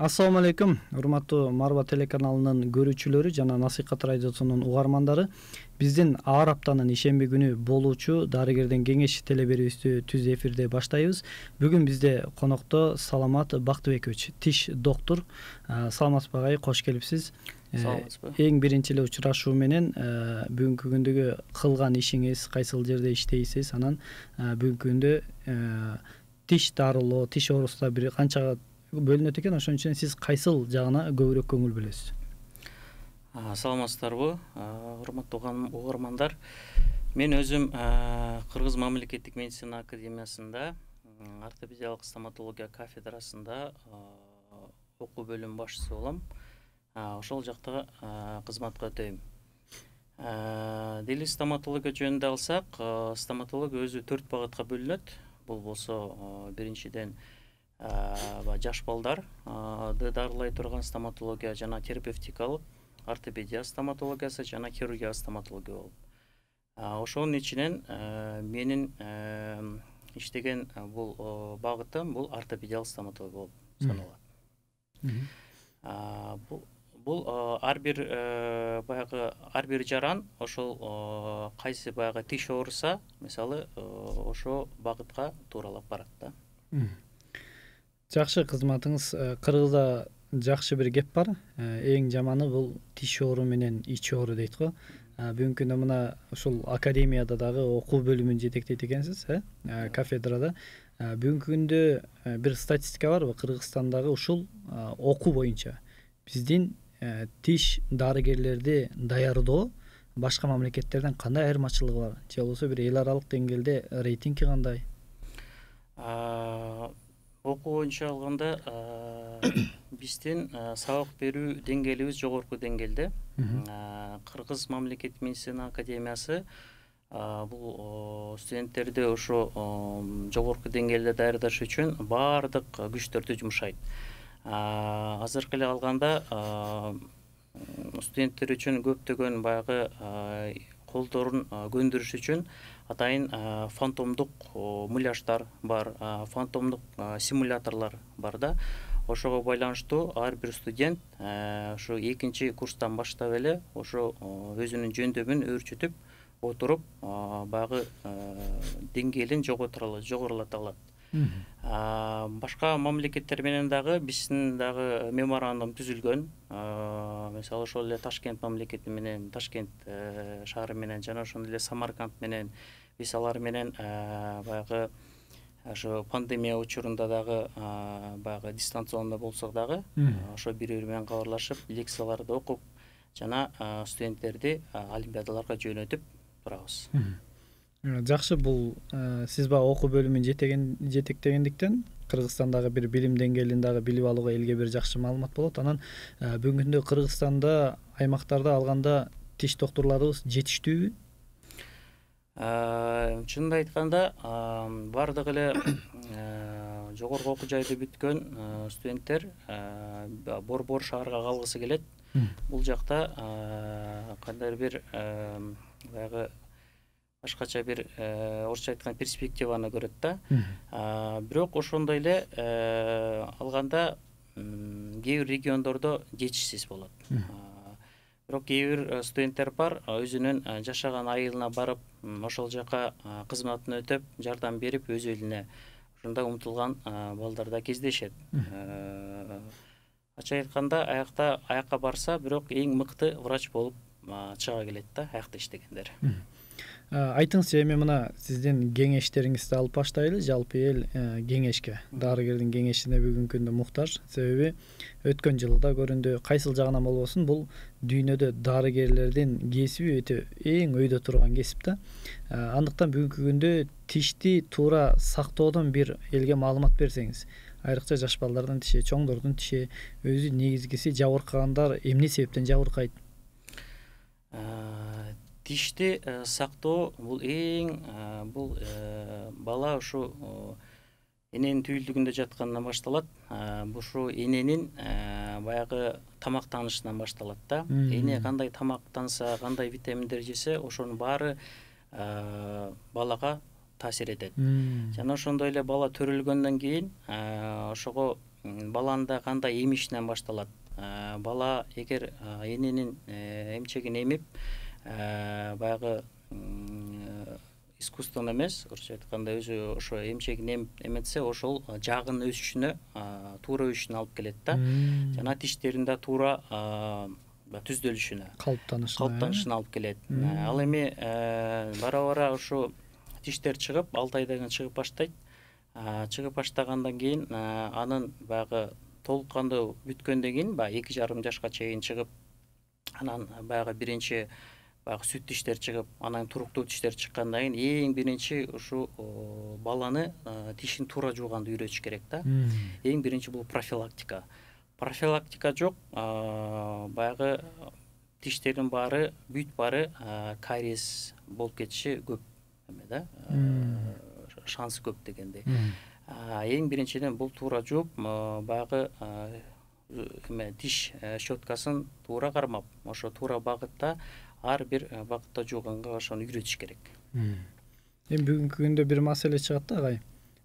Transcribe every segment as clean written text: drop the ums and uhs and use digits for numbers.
Ассаламу алейкум, урматтуу Марва телеканалынын көрүүчүлөрү жана Насыйкат радиосунун угармандары. Биздин ар аптанын ишемби күнү болуучу дарыгердин кеңеши телеберүүбүздү түз эфирде баштайбыз. Бүгүн бизде конокто Саламат Бактыбекович, тиш доктор. Саламатсызбы агай, кош келипсиз. Саламатсызбы. Эң биринчи эле учурашуу менен бүгүнкү күндөгү кылган ишиңиз, кайсыл жерде иштейсиз, анан бүгүнкү күндө тиш дарылоо, тиш оорусуна бир канчага бөлүнөт экен, ошон үчүн сиз кайсыл жагына көбүрөөк көңүл бөлөсүз? Саламатсыздарбы, урматтуу угармандар. Мен өзүм Кыргыз мамлекеттик медицина академиясында ортопедиялык стоматология кафедрасында окуу бөлүм башчысы болом. Ошол жакта кызматка өтөйм. Дели стоматология жөнүндө алсак, стоматология өзү 4 багытка бөлүнөт. Бул болсо биринчиден жаш балдарды дарылай турган стоматология жана терапевтикалык ортопедия стоматологиясы жана хирургия стоматология болуп. Ошонун ичинен менин иштеген бул багытым бул ортопедиялык стоматология болуп саналат. Бул ар бир жаран ошол кайсы баягы тиш ооруса, мисалы, ошо багытка тууралап барат да. Жакшы, кызматыңыз. Кыргызда жакшы бир кеп бар. Эң жаманы бул тиш оору менен ич оору дейт го. Бүгүнкү күндө мына ушул академияда дагы окуу бөлүмүн жетектейт экенсиз, кафедрада. Бүгүнкү күндө бир статистика барбы? Кыргызстандагы ушул окуу боюнча биздин тиш дарыгерлерди даярдоо башка мамлекеттерден кандай айырмачылыгы бар? Же болбосо бир эл аралык деңгээлде рейтинги кандай? Окуу боюнча алганда биздин сабак берүү деңгээлибиз жогорку деңгээлде. Кыргыз мамлекеттик медицина академиясы бул студенттерди ошо жогорку деңгээлде даярдаш үчүн баардык күчтөрдү жумшайт. Азыркы эле алганда студенттер үчүн көптөгөн баягы колдорун көндүрүш үчүн атайын фантомдук муляждар бар, фантомдук симуляторлор бар да. Ошого байланыштуу ар бир студент ошо экинчи курстан баштап эле ошо өзүнүн жөндөмүн өөрчүтүп отуруп баягы деңгээлин жогорулата алат. Башка мамлекеттер менен дагы биздин дагы меморандум түзүлгөн. Мисалы, ошол эле Ташкент мамлекети менен, Ташкент шаары менен жана ошондой эле Самарканд менен биз алар менен баягы ошо пандемия учурунда дагы баягы дистанциондо болсок дагы ошо бири-бири менен кабарлашып, лекцияларды окуп жана студенттерди олимпиадаларга жөнөтүп турабыз. Жакшы, бул сиз баягы окуу бөлүмүн жетектегендиктен Кыргызстандагы бир билим деңгээлин дагы билип алууга элге бир жакшы маалымат болот. Анан бүгүнкү күндө Кыргызстанда аймактарда алганда тиш докторлорубуз жетиштүүбү? Чынын айтканда, бардык эле жогорку окуу жайды бүткөн студенттер Борбор шаарга калгысы келет. Бул жакта кандайдыр бир баягы башкача бир орусча айтканда перспективаны көрөт да. Бирок ошондой эле алганда кээ бир региондордо жетишсиз болот. Бирок кээ бир студенттер бар, өзүнүн жашаган айылына барып, ошол жака кызматын өтөп, жардам берип, өз элине ошондой умтулган балдар да кездешет. Ачык айтканда, аякка барса, бирок эң мыкты врач болуп чыга келет да, аякта иштегендер. Айтыңызчы, эми мына сиздин кеңештериңизди алып баштайлы. Жалпы эл кеңешке, дарыгердин кеңешине бүгүнкү күндө муктаж. Себеби өткөн жылы да көрүндү, кайсыл жагынан болбосун, бул дүйнөдө дарыгерлердин кесиби өтө эң өйдө турган кесип да. Андыктан бүгүнкү күндө тишти туура сактоодон бир элге маалымат берсеңиз, айрыкча жаш балдардын тиши, чоңдордун тиши, өзү негизгиси жабыркагандар эмне себептен жабыркайт? Тишти сактоо бул эң бул бала ушу эненин түйүлдүгүндө жаткандан башталат. Ушу эненин баягы тамактанышынан башталат да. Эне кандай тамактанса, кандай витаминдер жесе, ошонун баары балага таасир этет. Жана ошондой эле бала төрөлгөндөн кийин ошого баланын да кандай эмишинен башталат. Бала эгер эненин эмчегин эмип баягы искусственно эмес, орусча айтканда өзү ошо эмчегин эметсе, ошол жагын өсүшүнө, туура өсүшүнө алып келет да. Жана тиштерин да туура түздөлүшүнө, калыптанышына алып келет. Ал эми бара ошо тиштер чыгып, 6 айдан кийин чыгып баштайт. Чыгып баштагандан кийин анын баягы толук кандуу бүткөндөн кийин, баягы 2,5 жашка чейин чыгып, анан баягы биринчи баягы сүт тиштер чыгып, анан туруктуу тиштер чыккандан кийин эң биринчи ушу баланы тишин туура жууганды үйрөтүш керек да. Эң биринчи бул профилактика. Профилактика жок, баягы тиштердин баары, бүт баары кариес болуп кетиши көп эме да, шансы көп дегендей. Эң биринчиден бул туура жууп, баягы эме тиш щеткасын туура кармап, ошо туура багытта, ар бир багытта жууганга ошону үйрөтүш керек. Эми бүгүнкү күндө бир маселе чыгат да, агай.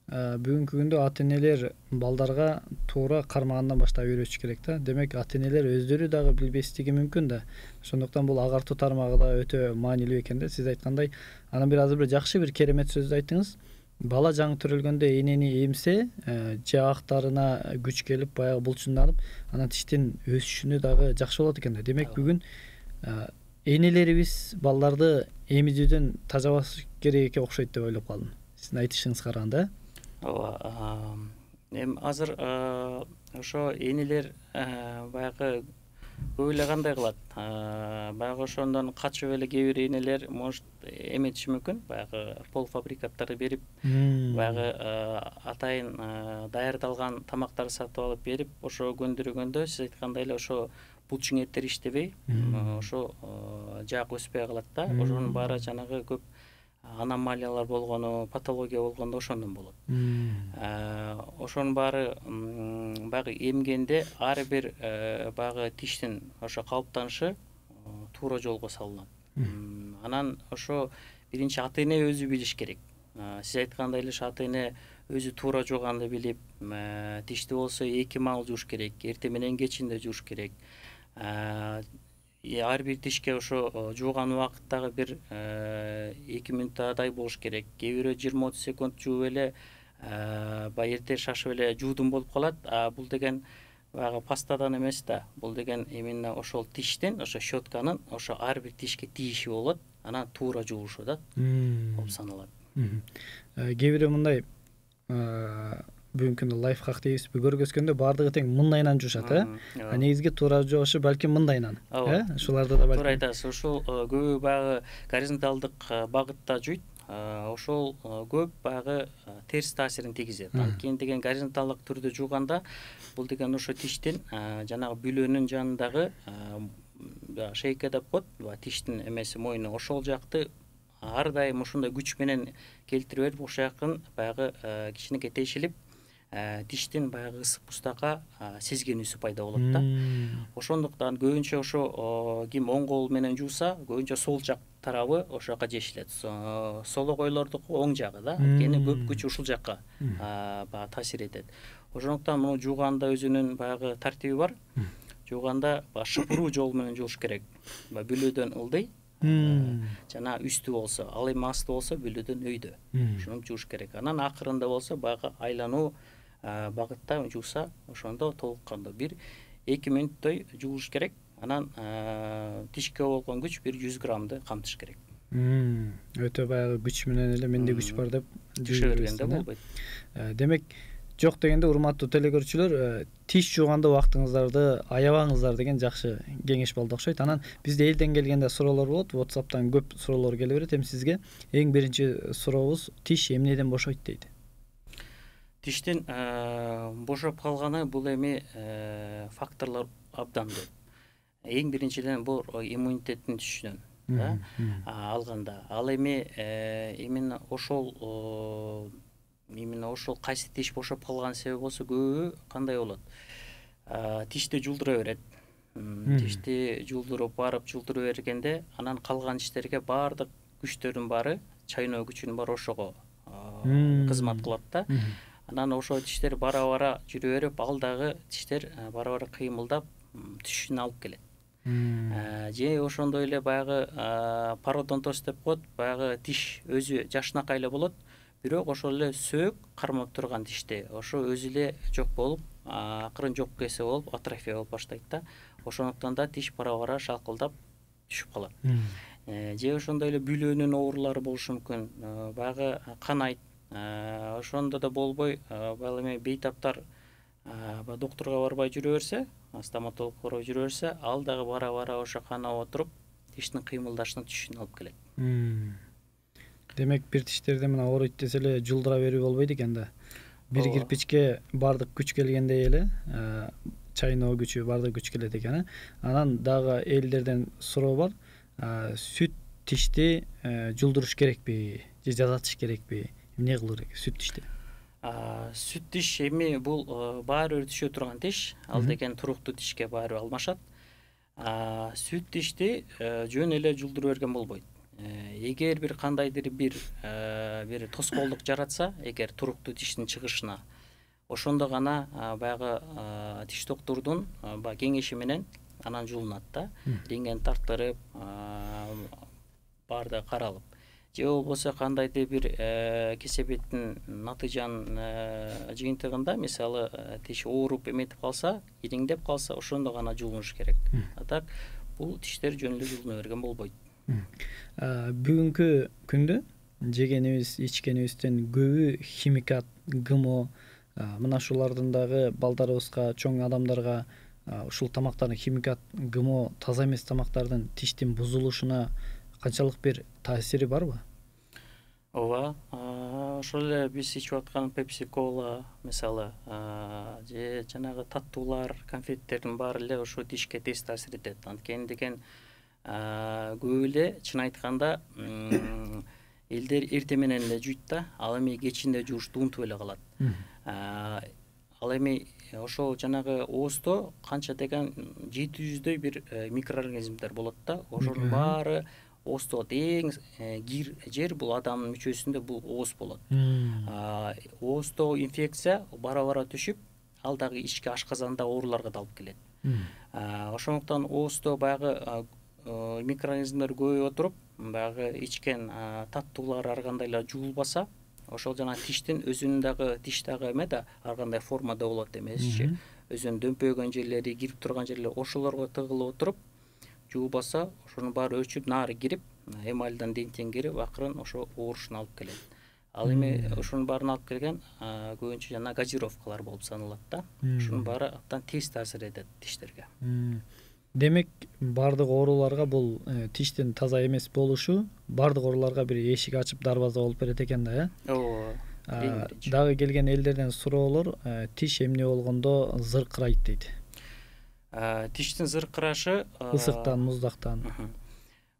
Бүгүнкү күндө ата-энелер балдарга туура кармагандан баштап үйрөтүш керек да. Демек, ата-энелер өздөрү дагы билбестиги мүмкүн да. Ошондуктан бул агартуу тармагы да өтө маанилүү экен да. Сиз айткандай, анан азыр бир жакшы бир керемет сөздү айттыңыз. Бала жаңы төрөлгөндө энени эмсе, жаактарына күч келип, баягы булчунданып, анан тиштин өсүшүнө дагы жакшы болот экен да. Демек, бүгүн энелерибиз балдарды эмизүүдөн тажабаш керек экен окшойт деп ойлоп калдым. Сиздин айтышыңызга караганда. Ооба. Эми азыр ошо энелер баягы көп эле кандай кылат? Баягы ошондон качып эле кээ бир энелер может эметиши мүмкүн. Баягы полуфабрикаттарды берип, баягы атайын даярдалган тамактарды сатып алып берип, ошо көндүргөндө сиз айткандай эле ошо булчуң эттер иштебей, ошо жаак өспөй калат да. Ошонун баары жанагы көп аномалиялар болгону, патология болгондо ошондон болот. Ошонун баары баягы эмгенде ар бир баягы тиштин ошо калыптанышы туура жолго салынат. Анан ошо биринчи ата-эне өзү билиш керек. Сиз айткандай эле ата-эне өзү туура жууганды билип, тишти болсо 2 маал жууш керек, эртең менен кечинде жууш керек. Ар бир тишке ошо жууган убакыттагы бир 2 минуттадай болуш керек. Кээ бирөө 20-30 секунд жууп эле баягы эрте шашып эле жуудум болуп калат. Бул деген баягы пастадан эмес да. Бул деген именно ошол тиштин, ошо щетканын ошо ар бир тишке тийиши болот. Анан туура жуулушу да болуп саналат. Кээ бирөө мындай бүгүнкү күндө лайфхак дейбизби, көргөзгөндө баардыгы тең мындайынан жуушат, негизги туура жуушу балким мындайынан. Ушуларды да туура айтасыз. Ушул көбү баягы горизонталдык багытта жуйт. Ошол көп баягы терс таасирин тийгизет. Анткени деген горизонталдык түрдө жууганда бул деген ошо тиштин жанагы бүлөнүн жанындагы шейка деп коет, тиштин эмеси мойну, ошол жакты ар дайым ушундай күч менен келтире берип, ошол жакын баягы кичинекей тешилип, тиштин баягы ысык бустакка сезгенүүсү пайда болот да. Ошондуктан көбүнчө ошо ким оң кол менен жууса, көбүнчө сол жак тарабы ошол жака жешилет. Солокойлордуку оң жагы да, анткени көп күч ушул жакка баягы таасир этет. Ошондуктан муну жууганда өзүнүн баягы тартиби бар. Жууганда шыпыруу жол менен жууш керек. Бүлөдөн ылдый, жана үстү болсо, ал эми асты болсо бүлөдөн өйдө. Ошону жууш керек. Анан акырында болсо баягы айлануу багытта жууса, ошондо толук кандуу 1-2 мүнөттөй жуулуш керек. Анан тишке болгон күч 100 граммды камтыш керек. Өтө баягы күч менен эле менде күч бар деп жууа бергенде болбойт. Демек, жок дегенде урматтуу телекөрүүчүлөр, тиш жууганда убактыңыздарды аябаңыздар деген жакшы кеңеш болду окшойт. Анан бизде элден келгенде суроолор болот, WhatsApp'тан көп суроолор келе берет. Эми сизге эң биринчи сурообуз тиш эмнеден бошойт дейт? Тиштин бошоп калганы бул эми факторлор абдан көп. Эң биринчиден бул иммунитеттин түшүшүнөн алганда. Ал эми именно ошол кайсы тиш бошоп калган себеби болсо көбү кандай болот? Тишти жулдура берет. Тишти жулдуруп бергенде, анан калган тиштерге баардык күчтөрдүн баары, чайноо күчүнүн баары ошого кызмат кылат да. анан ошо тиштер бара бара жүрө берип ал дагы тиштер бара бара кыймылдап түшүшүнө алып келет. Же ошондой эле баягы пародонтоз деп коет, баягы тиш өзү жакшынакай эле болот, бирок ошол эле сөөк кармап турган тиште ошо өзү эле жок болуп, акырын жок кесе болуп, атрофия болуп баштайт да. Ошондуктан да тиш бара бара шалкылдап түшүп калат. Же ошондой эле бүлөөнүн оорулары болушу мүмкүн, баягы канайт, ошондо да болбой баягы эме бейтаптар доктурга барбай жүрө берсе, стоматологко барбай жүрө берсе, ал дагы бара бара ошо канап отуруп тиштин кыймылдашына түшүшүнө алып келет. Демек бир тиштерде мына ооруйт десе эле жулдура берүү болбойт экен да. Бир кирпичке бардык күч келгендей эле, чайноо күчү, бардык күч келет экен. Анан дагы элдерден суроо бар. Сүт тишти жулдуруш керекпи же жасатыш керекпи? Эмне кылуу керек сүт тишти? Сүт тиш эми бул баары бир түшө турган тиш, ал деген туруктуу тишке баары бир алмашат. Сүт тишти жөн эле жулдура берген болбойт. Эгер бир кандайдыр бир тоскоолдук жаратса, эгер туруктуу тиштин чыгышына, ошондо гана баягы тиш доктурдун кеңеши менен анан жуулунат да. Рентген тартырып, баардыгы каралып. Же болбосо кандайдыр бир кесепеттин натыйжанын жыйынтыгында, мисалы тиш ооруп эметип калса, ириңдеп калса, ошондо гана жуулунуш керек. Так бул тиштер жөн эле жуулуна берген болбойт. Бүгүнкү күндө жегенибиз, ичкенибизден көбү химикат, ГМО, мына ушулардын дагы балдарыбызга, чоң адамдарга ушул тамактардын химикат, ГМО, таза эмес тамактардын тиштин бузулушуна канчалык бир таасири барбы? Ооба, ошол эле биз ичип аткан Pepsi Cola мисалы, же жанагы таттуулар, конфеттердин баары эле ошо тишке тез таасир этет. Анткени деген көп эле чын айтканда элдер эртең менен эле жуйт да, ал эми кечинде жуушты унутуп эле калат. Ал эми ошол жанагы ооздо канча деген 700дөй бир микроорганизмдер болот да, ошонун баары ооздо эң кир жер бул адамдын мүчөсүндө бул ооз болот. Ооздо инфекция бара бара түшүп, ал дагы ички ашказанда ооруларга да алып келет. Ошондуктан ооздо баягы микроорганизмдер көбөйүп отуруп, баягы ичкен таттуулар ар кандай эле жуулбаса, ошол жана тиштин өзүнүн дагы тиш дагы эме да ар кандай формада болот эмесичи. Өзүнүн дөмпөйгөн жерлери, кирип турган жерлери ошолорго тыгылып отуруп, жуулбаса, ошонун баары өчүп, нары кирип, эмальдан денттен кирип, акырын ошо оорушуна алып келет. Ал эми ошонун баарын алып келген көбүнчө жана газировкалар болуп саналат да. Ошонун баары абдан тез таасир этет тиштерге. Демек, бардык ооруларга бул тиштин таза эмес болушу бардык ооруларга бир эшик ачып дарбаза болуп берет экен да, Ооба. Дагы келген элдерден суроолор, тиш эмне болгондо зыркырайт дейт. Тиштин зыркырашы ысыктан, муздактан.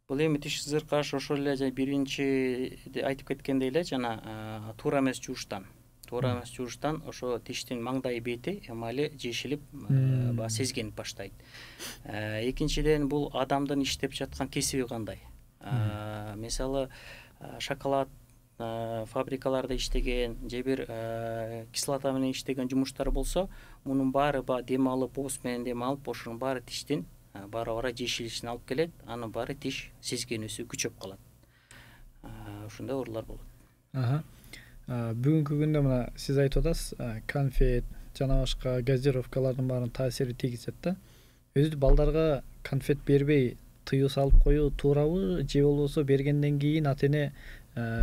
Бул эми тиш зыркырашы ошол эле биринчи айтып кеткендей эле жана туура эмес жууштан. Туура эмес жууштан ошо тиштин маңдай бети эмали жешилип, сезгенип баштайт. Экинчиден бул адамдын иштеп жаткан кесиби кандай. Мисалы, шоколад фабрикаларда иштеген, же бир кислота менен иштеген жумуштар болсо, мунун баары дем алып, ооз менен дем алып, ошонун баары тиштин бара бара жешилишине алып келет, анын баары тиш сезгенүүсү күчөп калат. Ушундай оорулар болот. Бүгүнкү күндө мына сиз айтып атасыз, конфет жана башка газировкалардын баарын таасири тийгизет да. Өзү балдарга конфет бербей тыюу салып коюу туурабы, же болбосо бергенден кийин ата-эне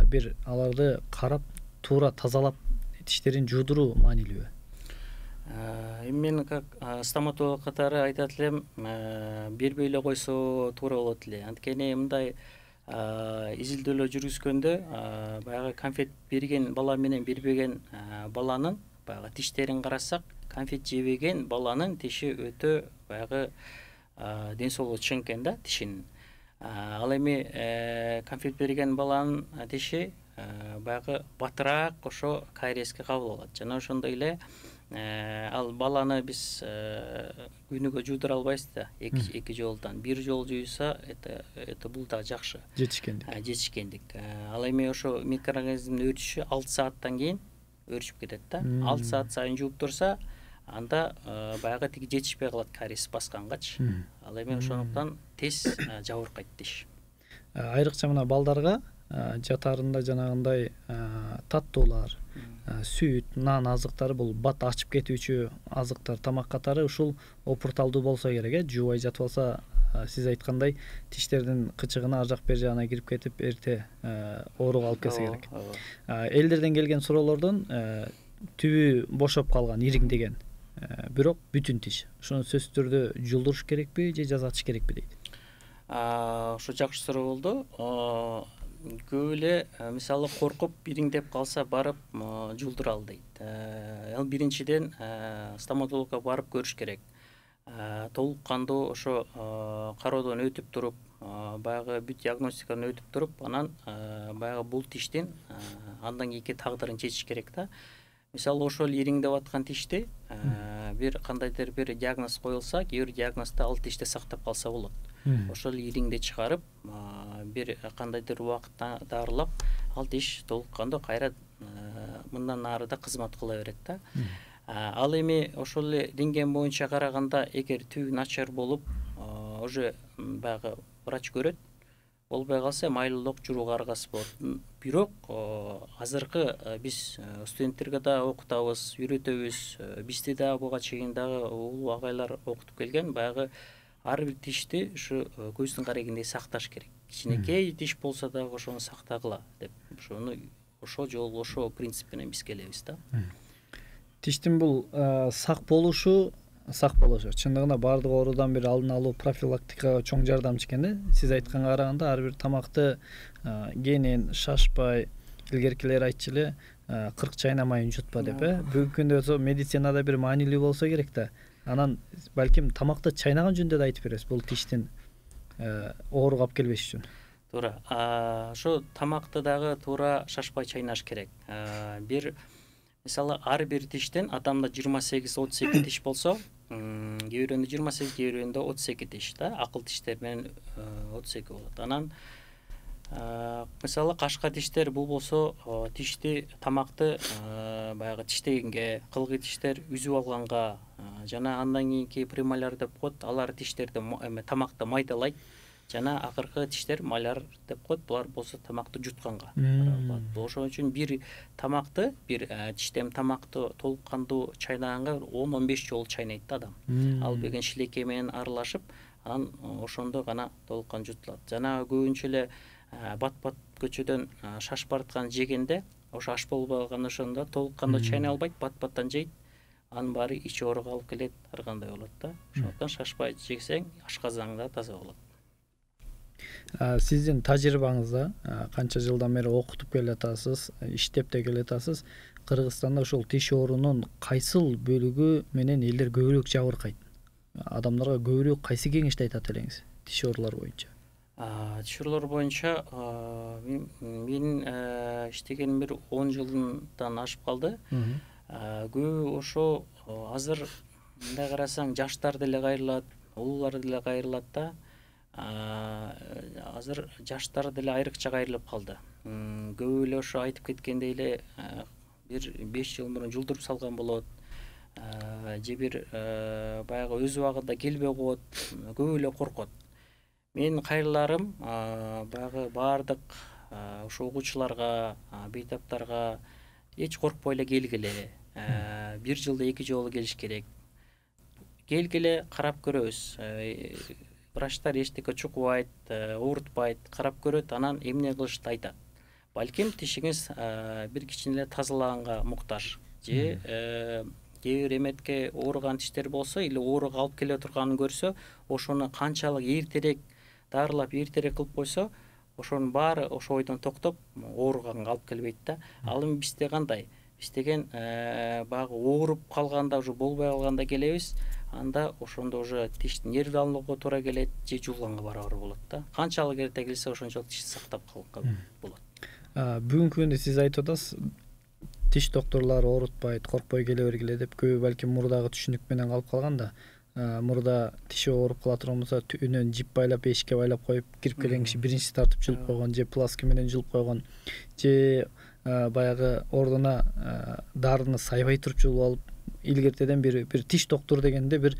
бир аларды карап, туура тазалап тиштерин жуудуруу маанилүүбү? Эми мен как стоматолог катары айтат элем, бербей эле койсо туура болот эле. Анткени мындай изилдөөлөр жүргүзгөндө баягы конфет берген бала менен бербеген баланын баягы тиштерин карасак, конфет жебеген баланын тиши өтө баягы ден соолугу чың экен да тишинин. Ал эми конфет берген баланын тиши баягы батыраак ошо кариеске кабыл алат. Жана ошондой эле ал баланы биз күнүгө жуудура албайбыз да, эки жолдон. Бир жолу жуйса, это бул да жакшы. Жетишкендик. Жетишкендик. Ал эми ошо микроорганизмдин өтүшү 6 сааттан кийин өөрчүп кетет да. 6 саат сайын жууп турса, анда баягы тиги жетишпей калат кариес баскангачы. Ал эми ошондуктан тез жабыркайт тиш. Айрыкча мына балдарга жатаарында жанагындай таттуулар, сүт, нан азыктары бул бат ачып кетүүчү азыктар, тамак катары ушул опурталдуу болсо керек, жуубай жатып алса, сиз айткандай тиштердин кычыгына ар жак бер жагына кирип кетип, эрте ооруга алып келсе керек. Элдерден келген суроолордон түбү бошоп калган, ириңдеген, бирок бүтүн тиш. Ошону сөзсүз түрдө жулдуруш керекпи же жазатыш керекпи дейт. Ошо жакшы суроо болду. Көп эле мисалы коркуп ириңдеп калса барып жулдуралы дейт. Ал биринчиден стоматологко барып көрүш керек. Толук кандуу ошо кароодон өтүп туруп, баягы бүт диагностикадан өтүп туруп, анан баягы бул тиштин андан кийинки тагдырын чечиш керек да. Мисалы ошол ириңдеп аткан тишти бир кандайдыр бир диагноз коюлса, кээ бир диагнозду ал тиште сактап калса болот. Ошол ириңди чыгарып, бир кандайдыр убакытта дарылап, ал тиш толук кандуу кайра мындан ары да кызмат кыла берет да. Ал эми ошол эле рентген боюнча караганда, эгер түбү начар болуп, уже баягы врач көрөт, болбой калса майлуулук журууга аргасы болот. Бирок азыркы биз студенттерге да окутабыз, үйрөтөбүз. Бизди да буга чейин дагы улуу агайлар окутуп келген. Баягы ар бир тишти ушу көздүн карегиндей сакташ керек. Кичинекей тиш болсо дагы ошону сактагыла деп, ошону ошол жолу ошол принцип менен биз келебиз да. Тиштин бул сак болушу чындыгында баардык оорудан бир алдын алуу, профилактикага чоң жардамчы экен да. Сиз айтканга караганда ар бир тамакты кенен шашпай, илгеркилер айтчу эле 40 чайна майын жутпа деп, бүгүнкү күндө медицинада бир маанилүү болсо керек да. Анан балким тамакты чайнаган жөнүндө да айтып бересиз, бул тиштин ооруга алып келбеш үчүн. Туура. Ошо тамакты дагы туура шашпай чайнаш керек. Бир мисалы ар бир тиштен адамда 28-32 тиш болсо, кээ бирөндө 28, кээ бирөндө 32 тиш да, акыл тиштер менен 32 болот. Анан мисалы кашка тиштер бул болсо, тишти тамакты баягы тиштегенге, кылгый тиштер үзүп алганга жана андан кийинки премоляр деп коет, алар тиштерди тамакты майдалайт. Жана акыркы тиштер маляр деп коет, булар болсо тамакты жутканга. Ошон үчүн бир тамакты, бир тиштем тамакты толук кандуу чайнаганга 10-15 жолу чайнайт да адам. Ал деген шилекей менен аралашып, анан ошондо гана толук кандуу жутулат. Жана көбүнчө эле бат-бат көчөдөн шашып бараткан жегенде, ошо аш болбой калган ошондо толук кандуу чайнай албайт, бат-баттан жейт. Анын баары ич ооруга алып келет, ар кандай болот да. Ошондуктан шашпай жесең, ашказаң да таза болот. Сиздин тажрыйбаңызда канча жылдан бери окутуп келатасыз, иштеп да келатасыз. Кыргызстанда ошол тиш оорунун кайсыл бөлүгү менен элдер көбүрөөк жабыркайт? Адамдарга көбүрөөк кайсы кеңешти айтат элеңиз тиш оорулар боюнча? Тиш оорулар боюнча мен иштегеним бир 10 жылдан ашып калды. Көбү ошо азыр мындай карасаң жаштар деле кайрылат, улуулар деле кайрылат да. Азыр жаштар деле айрыкча кайрылып калды. Көбү эле ошо айтып кеткендей эле бир 5 жыл мурун жулдуруп салган болот. Же бир баягы өз убагында келбей коет, көбү эле коркот. Менин кайрыларым баягы баардык ошо угуучуларга, бейтаптарга эч коркпой эле келгиле. Бир жылда 2 жолу келиш керек. Келгиле, карап көрөбүз. Врачтар эчтеке чукубайт, оорутпайт, карап көрөт, анан эмне кылышты айтат. Балким тишиңиз бир кичине эле тазалаганга муктаж. Же кээ бир эметке ооруган тиштер болсо, или ооруга алып келе турганын көрсө, ошону канчалык эртерээк дарылап, эртерээк кылып койсо, ошонун баары ошо ойдон токтоп, ооруганга алып келбейт да. Ал эми бизде кандай? Биз деген баягы ооруп калганда, уже болбой калганда келебиз. Анда ошондо уже тишти нервди алууга туура келет, же жуулганга барабар болот да. Канчалык эрте келсе, ошончолук тишти сактап калганга болот. Бүгүнкү күндө сиз айтып атасыз, тиш докторлору оорутпайт, коркпой келе бергиле деп. Көбү балким мурдагы түшүнүк менен калып калган да. Мурда тиши ооруп кала турган болсо, үнөн жип байлап, эшикке байлап коюп, кирип келген киши биринчи тартып жулуп койгон, же пласки менен жулуп койгон, же баягы ордуна дарыны сайбай турчулуп алып, илгертеден бир тиш доктуру дегенде бир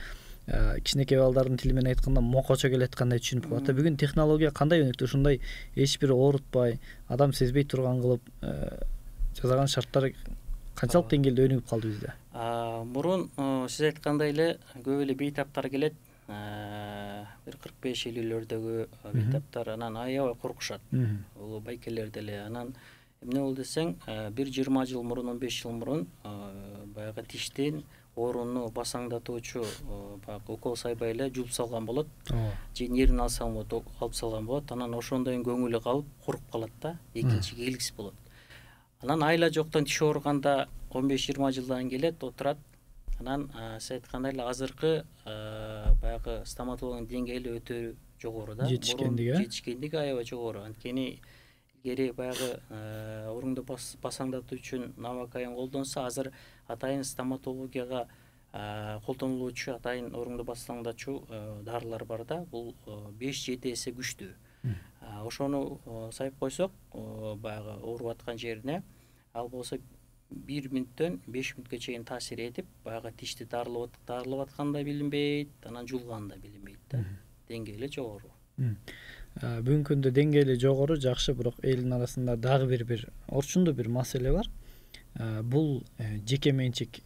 кичинекей балдардын тили менен айтканда мокочо келаткандай түшүнүп калат. Бүгүн технология кандай өнүктү? Ушундай эч бир оорутпай, адам сезбей турган кылып жасаган шарттар канчалык деңгээлде өнүгүп калды бизде? Мурун сиз айткандай эле көп эле бейтаптар келет. Бир 45-50-лөрдөгү бейтаптар анан аябай коркушат. Бул байкелер деле. Анан эмне болду десең, бир 20 жыл мурун, 15 жыл мурун баягы тиштин орунну басаңдатуучу баягы укол сайбай эле жууп салган болот. Же нервин алып салган болот. Анан ошондон көңүлү калып, куруп калат да, экинчи келгис болот. Анан айла жоктон тиш ооруганда 15-20 жылдан келет, отурат. Анан сиз айткандай эле азыркы баягы стоматологдун деңгээли өтө жогору да. Жетишкендиги аябай жогору. Анткени илгери баягы оруңду басаңдатуу үчүн навокаин колдонсо, азыр атайын стоматологияга колдонулуучу атайын оруңду басаңдатчу дарылар бар да. Бул 5-7 эсе күчтүү. Ошону сайып койсок, баягы ооруп аткан жерине, ал болсо 1 мүнөттөн 5 мүнөткө чейин таасир этип, баягы тишти дарылап атканда билинбейт, анан жулганда билинбейт да. Деңгээли жогору. Бүгүнкү күндө деңгээли жогору, жакшы, бирок элдин арасында дагы бир орчундуу бир маселе бар. Бул жеке менчик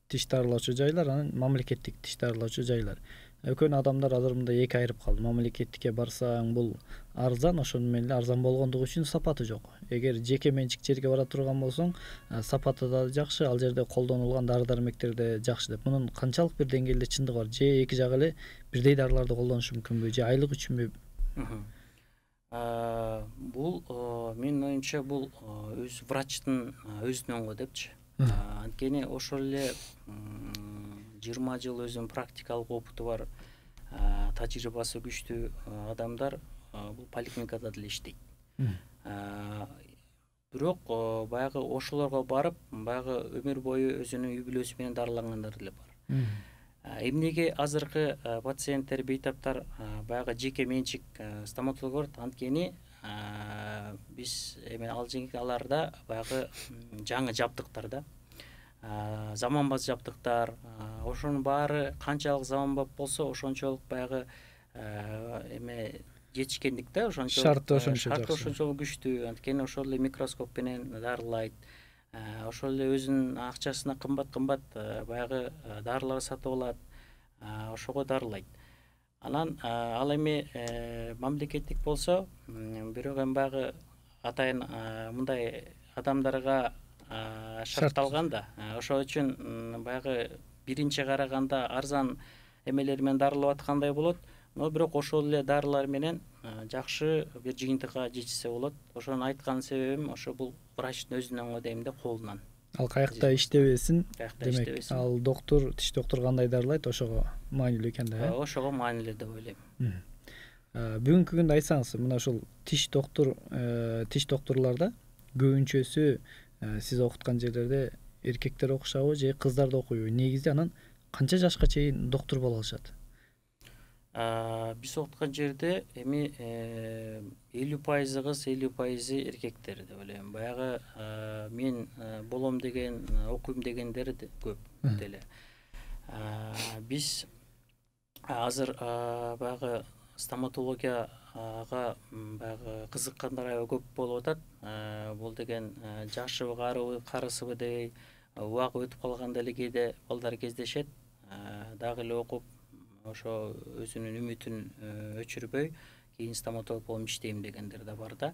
тиш дарылоочу жайлар, анан мамлекеттик тиш дарылоочу жайлар. Экөөнү адамдар азыр мындай эки айырып калды. Мамлекеттикке барсаң, бул арзан, ошону менен эле арзан болгондугу үчүн сапаты жок. Эгер жеке менчик жерге бара турган болсоң, сапаты да жакшы, ал жерде колдонулган дары-дармектер да жакшы деп. Мунун канчалык бир деңгээлде чындыгы бар? Же эки жак эле бирдей дарыларды колдонушу мүмкүнбү? Же айлык үчүнбү? Бул менин оюмча бул өз врачтын өзүнөн го депчи. Анткени ошол эле 20 жыл өзүнүн практикалык опыту бар, тажрыйбасы күчтүү адамдар бул поликлиникада деле иштейт. Бирок баягы ошолорго барып, баягы өмүр бою өзүнүн үй бүлөсү менен дарылангандар деле бар. Эмнеге азыркы пациенттер, бейтаптар баягы жеке менчик стоматологдор? Анткени биз аларда баягы жаңы жабдыктар да, заманбап жабдыктар, ошонун баары канчалык заманбап болсо, ошончолук баягы жетишкендик да, шарты ошончолук күчтүү. Анткени ошол эле микроскоп менен дарылайт. Ошол эле өзүнүн акчасына кымбат баягы дарылар сатып алат, ошого дарылайт. Анан ал эми мамлекеттик болсо, бирок эми баягы атайын мындай адамдарга шартталган да. Ошол үчүн баягы биринчи караганда арзан эмелер менен дарылап аткандай болот. Но бирок ошол эле дарылар менен жакшы бир жыйынтыкка жетишсе болот. Ошону айткан себебим ошо бул врачтын өзүнөн го дейм да, колунан. Ал каякта иштебесин, демек ал доктур, тиш доктуру кандай дарылайт, ошого маанилүү экен да. Ошого маанилүү деп ойлойм. Бүгүнкү күндө айтсаңыз, мына ушул тиш доктурларда көбүнчөсү сиз окуткан жерлерде эркектер окушабы же кыздар да окуйбу? Негизде анан канча жашка чейин доктур боло алышат? Биз окуткан жерде эми 50% кыз, 50% эркектер деп ойлойм. Баягы мен болом деген, окуйм дегендер көп деле. Биз азыр баягы стоматологияга баягы кызыккандар аябай көп болуп атат. Бул деген жашыбы, карысыбы дебей, убагы өтүп калганда эле кээде балдар кездешет. Дагы эле окуп, ошо өзүнүн үмүтүн өчүрбөй, кийин стоматолог болуп иштейм дегендер да бар да.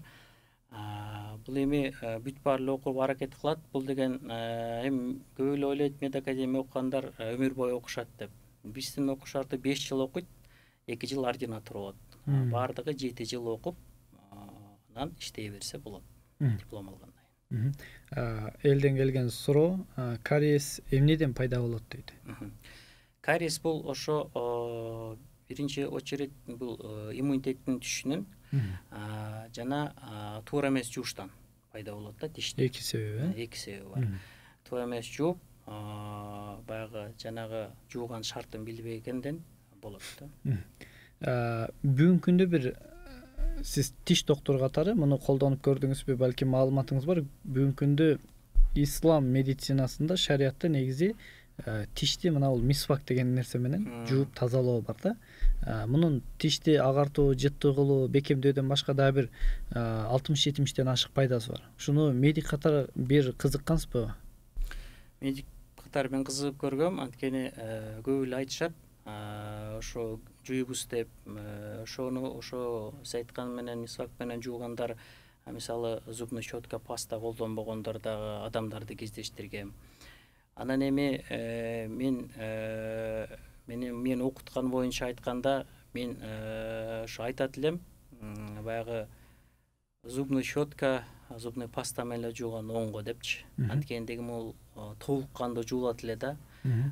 Бул эми бүт баары эле окууга аракет кылат. Бул деген эми көп эле ойлойт, медакадемия окугандар өмүр бою окушат деп. Биздин окуу шарты 5 жыл окуйт, 2 жыл ординатура болот. Баардыгы 7 жыл окуп, анан иштей берсе болот, диплом алгандан кийин. Элден келген суроо, кариес эмнеден пайда болот дейт? Кариес бул ошо биринчи очередь бул иммунитеттин түшүшүнөн жана туура эмес жууштан пайда болот да, тишти. Эки себеби, Эки себеби бар. Туура эмес жууп, баягы жанагы жууган шартын билбегенден болот да. Бүгүнкү күндө бир сиз тиш доктуру катары муну колдонуп көрдүңүзбү? Балким маалыматыңыз бар. Бүгүнкү күндө ислам медицинасында, шариятта негизи тишти мына бул мисвак деген нерсе менен жууп тазалоо бар да. Мунун тишти агартуу, жыттуу кылуу, бекемдөөдөн башка дагы бир 60-70тен ашык пайдасы бар. Ушуну медик катары бир кызыккансызбы? Медик катары мен кызыгып көргөм, анткени көп эле айтышат ошо жуйбуз деп, ошо сиз айткан менен мисвак менен жуугандар, мисалы зубный щетка, паста колдонбогондор дагы адамдарды кездештиргем. Анан эми мен окуткан боюнча айтканда, мен ошо айтат элем, баягы зубный щетка, зубный паста менен эле жууган оңго депчи. Анткени дегим бул толук кандуу жуулат эле да.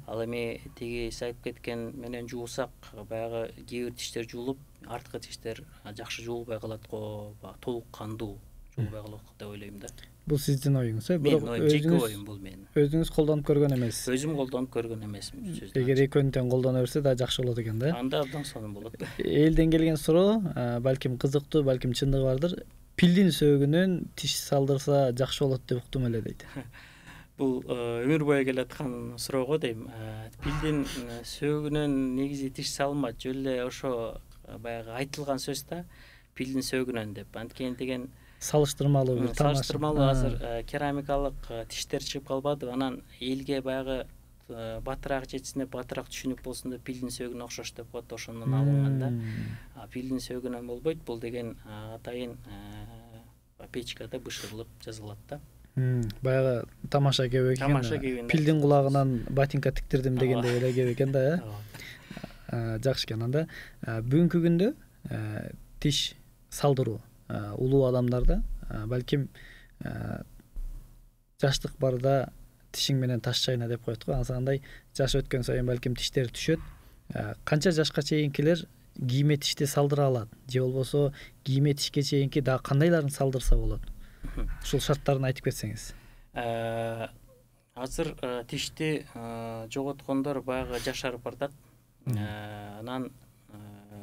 Ал эми тиги сиз айтып кеткен менен жуусак, баягы кээ бир тиштер жуулуп, арткы тиштер жакшы жуулбай калат го, толук кандуу жуулбай калат деп ойлойм да. Бул сиздин оюңуз, Бирок жеке оюм бул менин. Өзүңүз колдонуп көргөн эмессиз. Өзүм колдонуп көргөн эмесмин. Эгер экөөнү тең колдоно берсе да жакшы болот экен да. Анда абдан сонун болот. Элден келген суроо, балким кызыктуу, балким чындыгы бардыр. Пилдин сөөгүнөн тиш салдырса жакшы болот деп уктум эле дейт. Бул өмүр бою келаткан суроо го дейм. Пилдин сөөгүнөн негизи тиш салынбайт, жөн эле ошо баягы айтылган сөз да, пилдин сөөгүнөн деп. Анткени деген салыштырмалуу бир салыштырмалуу азыр керамикалык тиштер чыгып калбадыбы, анан элге баягы батыраак жетсин деп, батыраак түшүнүк болсун деп пилдин сөөгүнө окшош деп коет, ошондон алынган да. Пилдин сөөгүнөн болбойт, бул деген атайын печкада бышырылып жасалат да. Баягы тамаша кеп экен. Пилдин кулагынан ботинка тиктирдим дегендей эле кеп экен да, жакшы экен. Анда бүгүнкү күндө тиш салдыруу улуу адамдарда, балким жаштык барда тишиң менен таш чайна деп коет го. Ансандай жаш өткөн сайын балким тиштери түшөт. Канча жашка чейинкилер кийме тишти салдыра алат, же болбосо кийме тишке чейинки дагы кандайларын салдырса болот? Ушул шарттарын айтып кетсеңиз. Азыр тишти жоготкондор баягы жашарып бартат. Анан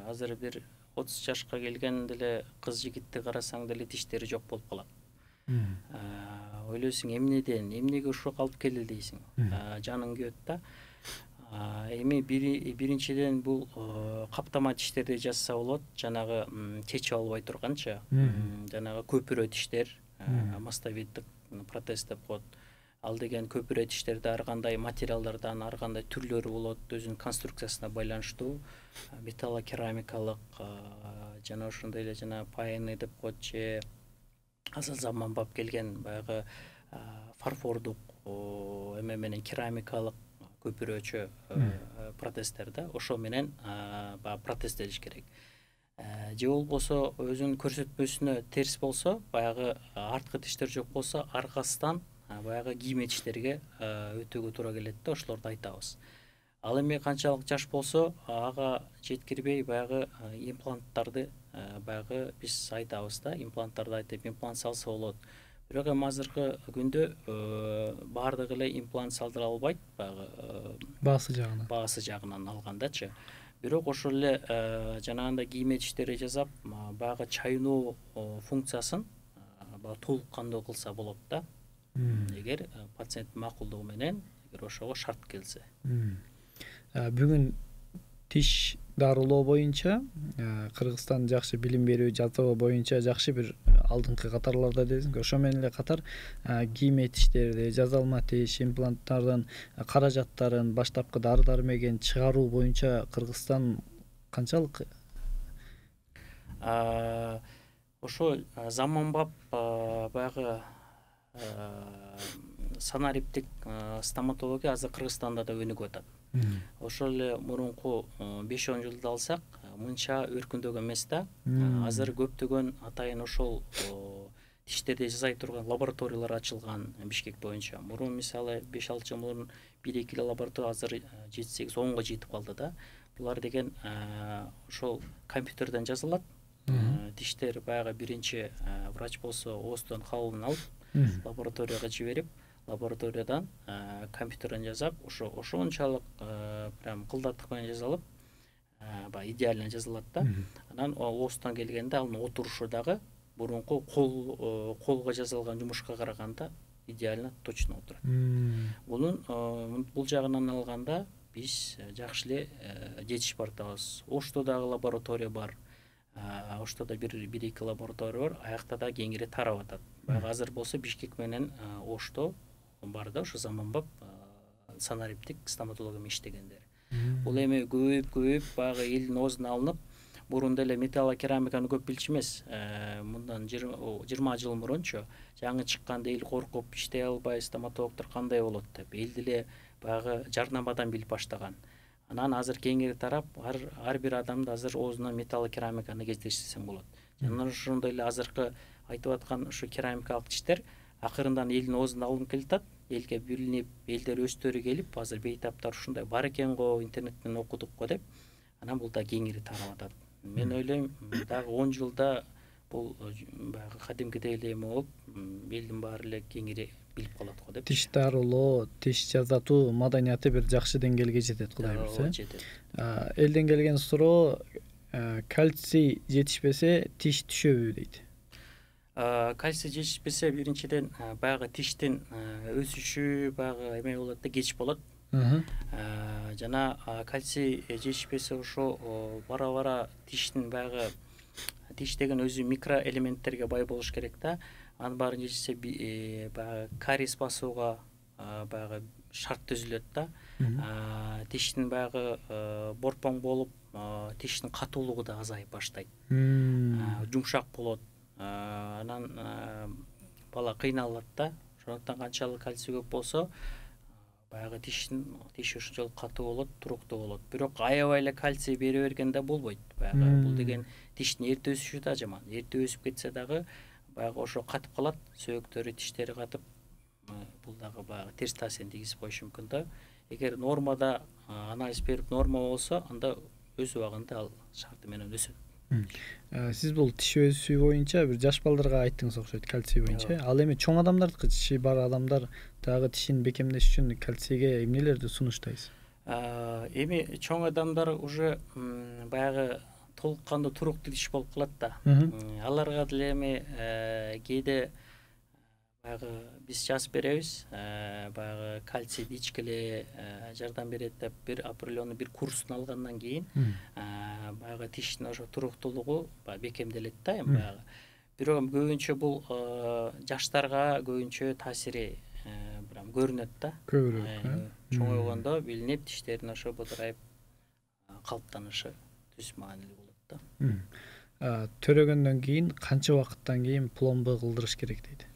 азыр бир 30 жашка келген деле кыз жигитти карасаң деле тиштери жок болуп калат. Ойлойсуң эмнеге ушул калып келди дейсиң. Жаның күйөт да. Эми биринчиден бул каптама тиштерди жазса болот, жанагы чечип албай турганчы, жанагы көпүрө тиштер, мастовиттик протез деп коет. Ал деген көпүрө тиштерде ар кандай материалдардан, ар кандай түрлөрү болот, өзүнүн конструкциясына байланыштуу, металлокерамикалык, жана ошондой эле жана пайны деп коет, же азыр заманбап келген баягы фарфордук эме менен керамикалык көпүрөчө протездер да, ошо менен баягы протезделиш керек. Же болбосо өзүнүн көрсөтмөсүнө терс болсо, баягы арткы тиштер жок болсо, аркасынан баягы кийме тиштерге өтүүгө туура келет да, ошолорду айтабыз. Ал эми канчалык жаш болсо, ага жеткирбей баягы импланттарды баягы биз айтабыз да, импланттарды айтып, имплант салса болот. Бирок эми азыркы күндө баардыгы эле имплант салдыра албайт, баягы баасы жагынан алгандачы. Бирок ошол эле жанагындай кийме тиштери жасап, баягы чайноо функциясын толук кандуу кылса болот да. Эгер пациенттин макулдугу менен, эгер ошого шарт келсе. Бүгүн тиш дарылоо боюнча Кыргызстан жакшы билим берүү, жасоо боюнча жакшы бир алдыңкы катарларда десең, ошо менен эле катар кийме тиштерди, жасалма тиш, импланттардын каражаттарын, баштапкы дары-дармегин чыгаруу боюнча Кыргызстан канчалык? Ошо заманбап баягы санариптик стоматология азыр Кыргызстанда да өнүгүп атат. Ошол эле мурунку 5-10 жылды алсак, мынча өркүндөгөн эмес да. Азыр көптөгөн атайын ошол тиштерди жасай турган лабораториялар ачылган Бишкек боюнча. Мурун мисалы 5-6 жыл мурун 1-2 лаборатория, азыр 7-8-10го жетип калды да. Булар деген ошол компьютерден жазылат. Тиштер баягы биринчи врач болсо оозтон кабылын алып, лабораторияга жиберип, лабораториядан компьютерден жасап, ошончалык прям кылдаттык менен жасалып, баягы идеально жазылат да. Анан оозтон келгенде анын отурушу дагы мурунку колго жасалган жумушка караганда идеально точно отурат. Бул жагынан алганда биз жакшы эле жетиш бартабыз. Ошто дагы лаборатория бар. Ошто да бир-эки лаборатория бар. Аякта да кеңири тарап атат. Баягы азыр болсо Бишкек менен Ошто бар да, ошо заманбап санариптик стоматология иштегендер. Бул эми көбөйүп баягы элдин оозуна алынып, мурун деле металлокерамиканы көп билчү эмес. Мындан 20 жыл мурунчу жаңы чыкканда эл коркуп иштей албай, стоматологдор кандай болот деп эл деле баягы жарнамадан билип баштаган. Анан азыр кеңири тарап, ар бир адамды азыр оозуна металлокерамиканы кездештирсең болот. Жана ошондой эле азыркы айтып аткан ушу керамикалык тиштер акырындан элдин оозуна алынып келатат, элге билинип, элдер өздөрү келип, азыр бейтаптар ушундай бар экен го, интернеттен окудук го деп, анан бул да кеңири тарап атат. Мен ойлойм, дагы 10 жылда бул баягы кадимкидей эле эме болуп, элдин баары эле кеңири билип калат го деп. Тиш дарылоо, тиш жазатуу маданияты бир жакшы деңгээлге жетет, Кудай буйрса. Жетет. Элден келген суроо, кальций жетишпесе тиш түшөбү дейт. Кальций жетишпесе биринчиден баягы тиштин өсүшү баягы эме болот да, кеч болот. Жана кальций жетишпесе ошо бара-бара тиштин баягы тиш деген өзү микроэлементтерге бай болуш керек да. Анын баарын жетишсе баягы кариес басууга баягы шарт түзүлөт да. Тиштин баягы борпоң болуп, тиштин катуулугу да азайып баштайт. Жумшак болот. Анан бала кыйналат да. Ошондуктан канчалык кальций көп болсо, баягы тиш ошончолук катуу болот, туруктуу болот. Бирок аябай эле кальций бере бергенде болбойт. Баягы бул деген тиштин эрте өсүшү да жаман. Эрте өсүп кетсе дагы баягы ошо катып калат, сөөктөрү, тиштери катып, бул дагы баягы терс таасирин тийгизип коюшу мүмкүн да. Эгер нормада анализ берип норма болсо, анда өз убагында ал шарты менен өсөт. Сиз бул тиш өсүү боюнча бир жаш балдарга айттыңыз окшойт, кальций боюнча. Ал эми чоң адамдардыкы, тиши бар адамдар дагы тишин бекемдеш үчүн кальцийге эмнелерди сунуштайсыз? Эми чоң адамдар уже баягы толук кандуу туруктуу тиш болуп калат да. Аларга деле эми кээде баягы биз жазып беребиз, баягы кальций дичкеле жардам берет деп бир определенный бир курстун алгандан кийин баягы тиштин ошо туруктуулугу бекемделет да эми баягы. Бирок көбүнчө бул жаштарга көбүнчө таасири прям көрүнөт да. Көбүрөөк. Чоңойгондо билинип, тиштердин ошо бодорайып калыптанышы түз маанилүү болот да. Төрөгөндөн кийин канча убакыттан кийин пломба кылдырыш керек дейт?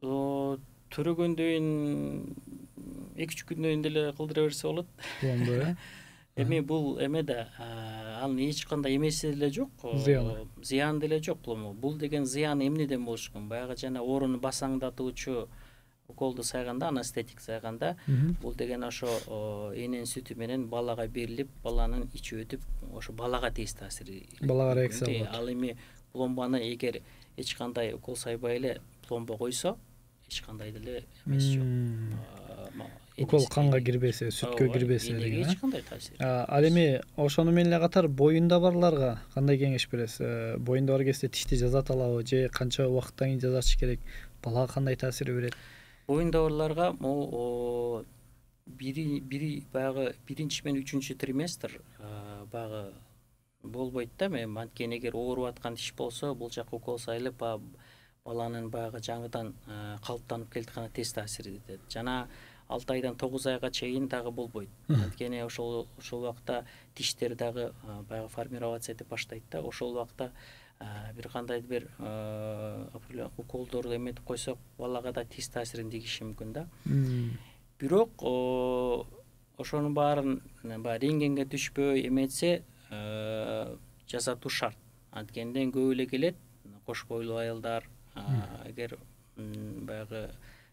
Төрөгөндөн кийин 2-3 күндөн кийин деле кылдыра берсе болот. Пломба, Эми бул эме да, анын эч кандай эмеси деле жок, зыяны деле жок пломба. Бул деген зыяны эмнеден болуш мүмкүн? Баягы жана орун басаңдатуучу уколду сайганда, анестетик сайганда, бул деген ошо эненин сүтү менен балага берилип, баланын ичи өтүп, ошо балага терс таасири. Балага реакция болот. Ал эми пломбаны эгер эч кандай укол сайбай эле пломба койсо, эч кандай деле эмеси жок. Укол канга кирбесе, сүткө кирбесе деген. Эч кандай таасир. Ал эми ошону менен эле катар боюнда барларга кандай кеңеш бересиз? Боюнда бар кезде тишти жазаталабы же канча убакыттан кийин жазатыш керек? Балага кандай таасир берет? Боюнда барларга могу баягы 1 менен 3 триместр баягы болбойт да. Эми анткени эгер ооруп аткан тиш болсо, бул жака укол сайылып, баланын баягы жаңыдан калыптанып келатканы терс таасир этет. Жана 6 айдан 9 айга чейин дагы болбойт. Анткени ошол убакта тиштер дагы баягы формироваться этип баштайт да. Ошол убакта бир кандайдыр бир уколдорду эметип койсок, балага да терс таасирин тийгизиши мүмкүн да. Бирок ошонун баарын баягы рентгенге түшпөй эметсе, жазатуу шарт. Анткенден көп эле келет кош бойлуу аялдар. Эгер баягы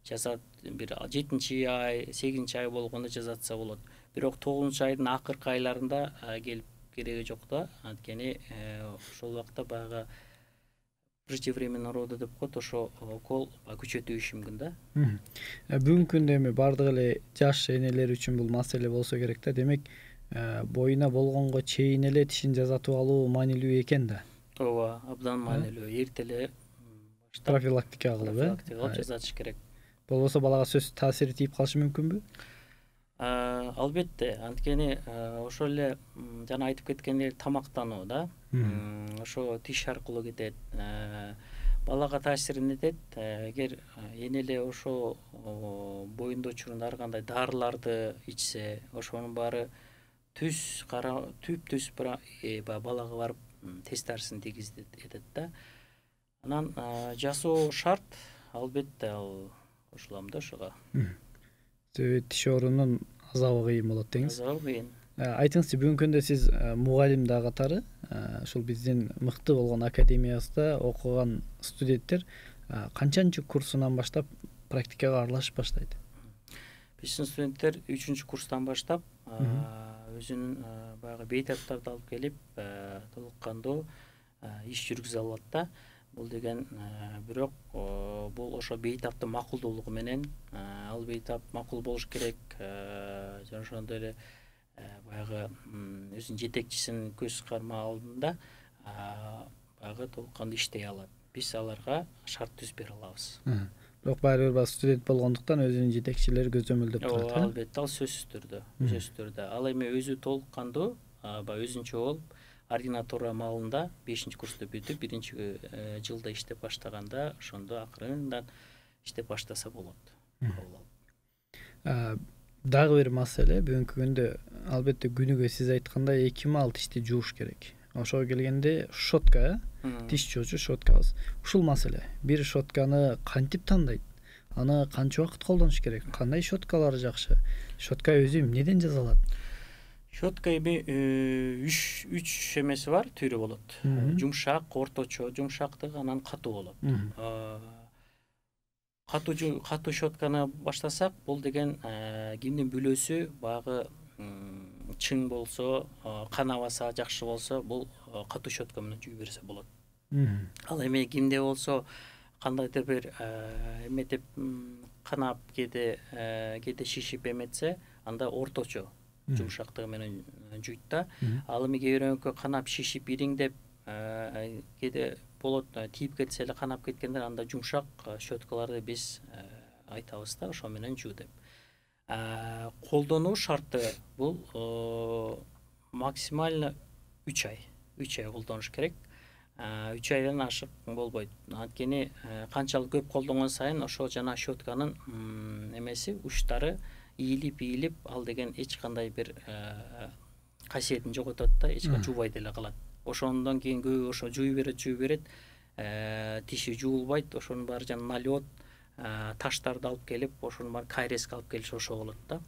жазат бир 7-ай, 8-ай болгондо жазатса болот. Бирок 9-айдын акыркы айларында келип кереги жок да. Анткени ошол убакта баягы преждевременный роды деп коет, ошо укол күчөтүшү мүмкүн да. Бүгүнкү күндө эми бардык эле жаш энелер үчүн бул маселе болсо керек да. Демек, боюна болгонго чейин эле тишин жазатып алуу маанилүү экен да. ооба, абдан маанилүү. Эрте эле Профилактика кылып, кылып жазатыш керек. Болбосо балага сөзсүз таасири тийип калышы мүмкүнбү? Албетте, анткени ошол эле жана айтып кеткендей тамактануу да, ошо тиш аркылуу кетет, балага таасирин этет. Эгер эне эле ошо боюнда учурунда ар кандай дарыларды ичсе, ошонун баары түп балага барып тез таасирин тийгизет да. Анан жасоо шарт, албетте ал кошулам да ошого. Тиш оорунун азабы кыйын болот деңиз. Азабы кыйын. Айтыңызчы, бүгүнкү күндө сиз мугалим да катары ушул биздин мыкты болгон академиябызда окуган студенттер канчанчы курсунан баштап практикага аралашып баштайт? Биздин студенттер 3-курстан курстан баштап өзүнүн баягы бейтаптарды алып келип толук кандуу иш жүргүзө алат да. Бул деген бирок бул ошо бейтаптын макулдуулугу менен, ал бейтап макул болуш керек, жана ошондой эле баягы өзүнүн жетекчисинин көз карма алдында баягы толук кандуу иштей алат. Биз аларга шарт түзүп бере алабыз. Бирок баары бир студент болгондуктан өзүнүн жетекчилери көзөмөлдөп турат. Албетте, ал сөзсүз түрдө. Ал эми өзү толук кандуу баягы өзүнчө болуп ординатура маалында 5-курсту бүтүп 1-жылда иштеп баштаганда, ошондо акырындан иштеп баштаса болот. Дагы бир маселе, бүгүнкү күндө албетте күнүгө сиз айткандай 2 маал тишти жууш керек. Ошого келгенде щотка, тиш жуучу щоткабыз. Ушул маселе. Бир щотканы кантип тандайт? Аны канча убакыт колдонуш керек? Кандай щоткалар жакшы? Щотка өзү эмнеден жасалат? Щотка эми 3 эмеси бар, түрү болот. Жумшак, орточо, жумшактык, анан катуу болот. Катуу щотканы баштасак, бул деген кимдин бүлөсү баягы чың болсо, канабаса, жакшы болсо, бул катуу щотка менен жууй берсе болот. Ал эми кимде болсо кандайдыр бир эметип канап кээде шишип эметсе, анда орточо жумшактыгы менен жуйт да. Ал эми кээ бирөөнүкү канап шишип ириңдеп кээде болот, тийип кетсе эле канап кеткендер, анда жумшак щоткаларды биз айтабыз да, ошо менен жуу деп. Колдонуу шарты бул максимально 3 ай. 3 ай колдонуш керек. 3 айдан ашык болбойт. Анткени канчалык көп колдонгон сайын ошо жана щотканын эмеси, учтары ийилип, ал деген эч кандай бир касиетин жоготот да, эч качан жуубай деле калат. Ошондон кийин көбү ошо жууй берет, тиши жуулбайт, ошонун баары жана налет, таштарды алып келип, ошонун баары кариеске алып келиши ошо болот да.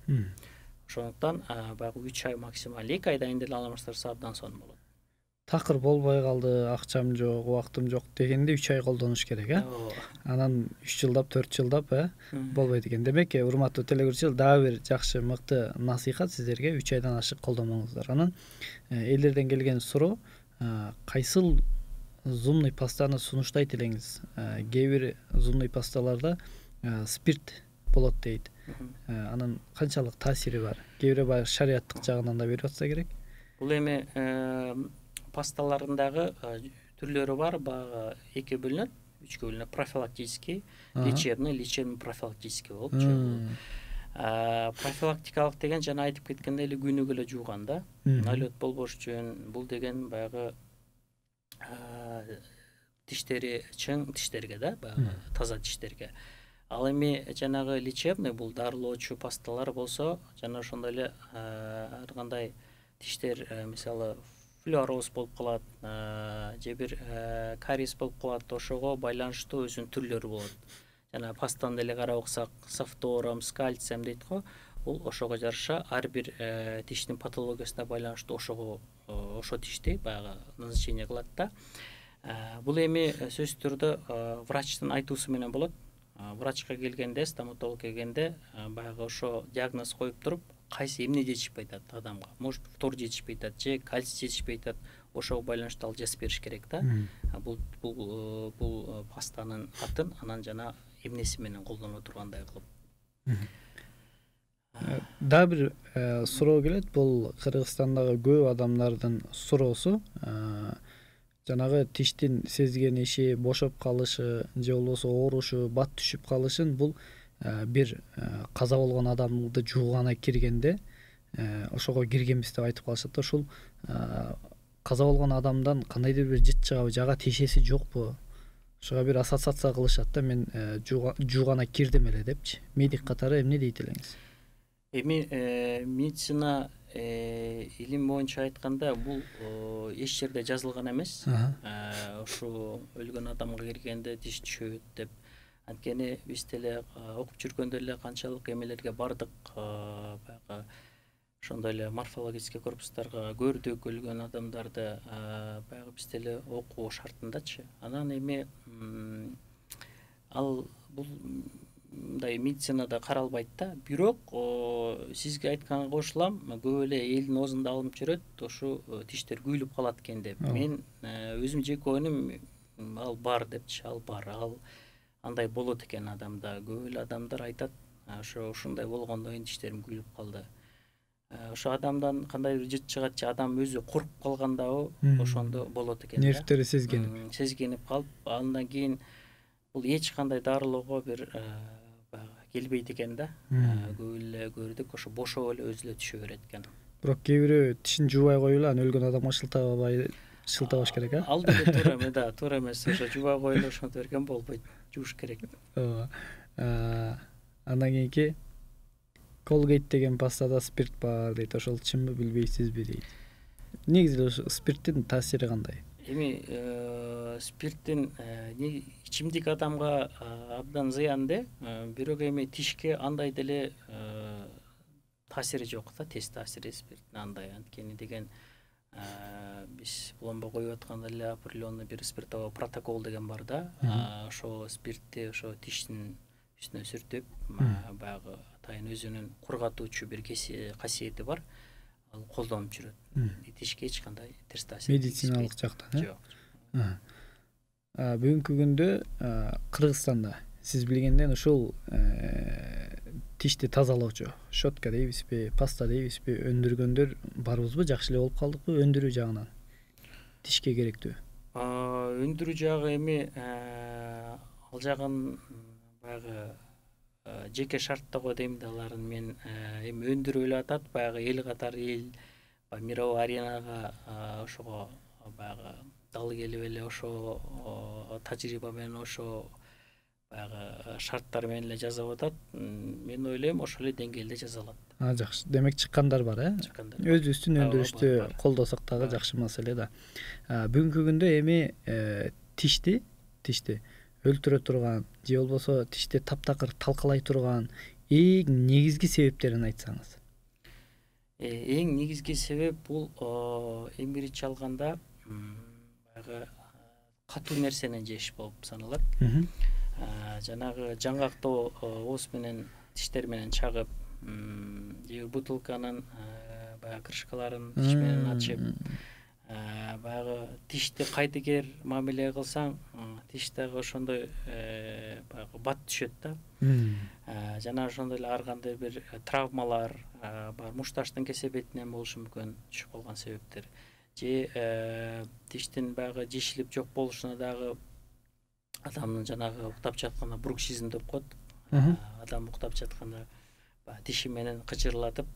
Ошондуктан баягы 3 ай максимал, 2 айдан кийин деле алмаштырса абдан сонун болот. Такыр болбой калды, акчам жок, убактым жок дегенде 3 ай колдонуш керек, Анан 3 жылдап, 4 жылдап, болбойт экен. Демек, урматтуу телегөрүүчүлөр, дагы бир жакшы, мыкты насыйхат сиздерге: 3 айдан ашык колдонмоңуздар. Анан элдерден келген суроо: кайсыл зубный пастаны сунуштайт элеңиз? Кээ бир зубный пасталарда спирт болот дейт. Анын канчалык таасири бар? Кээ бирөө баягы шариаттык жагынан да берип атса керек. Бул эми пасталарындагы түрлөрү бар, баягы 2 бөлүнөт, 3кө бөлүнөт: профилактический, лечебный профилактический болуп чыгат. Профилактикалык деген жана айтып кеткендей эле күнүгө эле жууган да, налет болбош үчүн. Бул деген баягы тиштери чың тиштерге да, баягы таза тиштерге. Ал эми жанагы лечебный, бул дарылоочу пасталар болсо, жана ошондой эле ар кандай тиштер, мисалы флюороз болуп калат, же бир кариес болуп калат, ошого байланыштуу өзүнүн түрлөрү болот. Жана пастаны деле карап оксак, с фтором, с кальцием дейт го. Бул ошого жараша ар бир тиштин патологиясына байланыштуу ошо тишти баягы назначение кылат да. Бул эми сөзсүз түрдө врачтын айтуусу менен болот. Врачка келгенде, стоматолог келгенде баягы ошо диагноз коюп туруп, кайсы эмне жетишпей атат адамга. Может, фтор жетишпей атат, же кальций жетишпей атат. Ошого байланыштуу ал жазып бериш керек да. Бул пастанын атын, анан жана эмнеси менен колдоно тургандай кылып. Дагы бир суроо келет. Бул Кыргызстандагы көп адамдардын суроосу. Жанагы тиштин сезгениши, бошоп калышы же болбосо оорушу, бат түшүп калышын бул бир каза болгон адамды жуугана киргенде ошого киргенбиз деп айтып калышат да. Ушул каза болгон адамдан кандайдыр бир жыт чыгабы, жага тиешеси жокпу? Ошого бир ассоциация кылышат да, мен жуугана кирдим эле депчи. Медик катары эмне дейт элеңиз? Эми медицина илим боюнча айтканда бул эч жерде жазылган эмес. Ушу өлгөн адамга киргенде тиш түшөт деп. Анткени биз деле окуп жүргөндө эле канчалык эмелерге бардык, баягы ошондой эле морфологический корпустарга көрдүк өлгөн адамдарды, баягы биз деле окуу шартындачы. Анан эми ал бул мындай медицинада каралбайт да. Бирок сизге айтканга кошулам, көп эле элдин оозунда алынып жүрөт, ушу тиштер күйүлүп калат экен деп. Мен өзүм жеке ойнум ал бар депчи, ал бар. Ал андай болот экен адамда. Көп эле адамдар айтат, ушундай болгондон кийин тиштерим күйүлүп калды. Ошо адамдан кандайдыр жыт чыгат же адам өзү коркуп калгандабы, ошондо болот экен. Нервтери сезгенип калып, андан кийин бул эч кандай дарылоого бир келбейт экен да. Көп эле көрдүк, ошо бошоп эле өзү эле түшө берет экен. Бирок кээ бирөө тишин жуубай коюп эле анан өлгөн адамга шылтабаш керек, Ал деле туура эме да, туура эмес. Ошо жуубай коюп эле ошентип берген болбойт. Жууш керек. Андан кийинки Colgate деген пастада спирт бар дейт. Ошол чынбы, билбейсизби дейт. Негизи ошо спирттин таасири кандай? Эми спирттин ичимдик адамга абдан зыян бирок эми тишке андай деле таасири жок да, тез таасири спирттин андай. Анткени деген биз пломба коюп атканда эле определенный бир спиртовой протокол деген бар да. Ошо спиртти ошо тиштин үстүнө сүртүп, баягы атайын өзүнүн кургатуучу бир касиети бар. Ал колдонуп жүрөт. Тишке эч кандай терс таасир. Медициналык жактан, жок. Бүгүнкү күндө Кыргызстанда сиз билгенден ушул тишти тазалоочу щетка дейбизби, паста дейбизби, өндүргөндөр барбызбы? Жакшы эле болуп калдыкпы өндүрүү жагынан? Тишке керектүү. Өндүрүү жагы эми ал жагын баягы жеке шарттоо дейм да аларын. Мен эми өндүрүп эле атат, баягы эл катары эл мировой аренага ошого баягы дал келип эле ошо тажрыйба менен ошо баягы шарттар менен эле жасап атат. Мен ойлойм ошол эле деңгээлде жасалат. Жакшы. Демек чыккандар бар, Өзүбүздүн өндүрүштү колдосок дагы жакшы маселе да. Бүгүнкү күндө эми тишти өлтүрө турган же болбосо тишти таптакыр талкалай турган эң негизги себептерин айтсаңыз. Эң негизги себеп бул эң биринчи алганда баягы катуу нерсени жеш болуп саналат. Жанагы жаңгактоо ооз менен тиштер менен чагып, же бутылканын баягы крышкаларын тиш менен ачып, баягы тишти кайдыгер мамиле кылсаң, тиш дагы ошондой баягы бат түшөт да. Жана ошондой эле ар кандай бир травмалар бар, мушташтын кесепетинен болушу мүмкүн түшүп калган себептер. Же тиштин баягы жешилип жок болушуна дагы адамдын жанагы уктап жатканда бруксизм деп коет. Адам уктап жатканда тиши менен кычырлатып,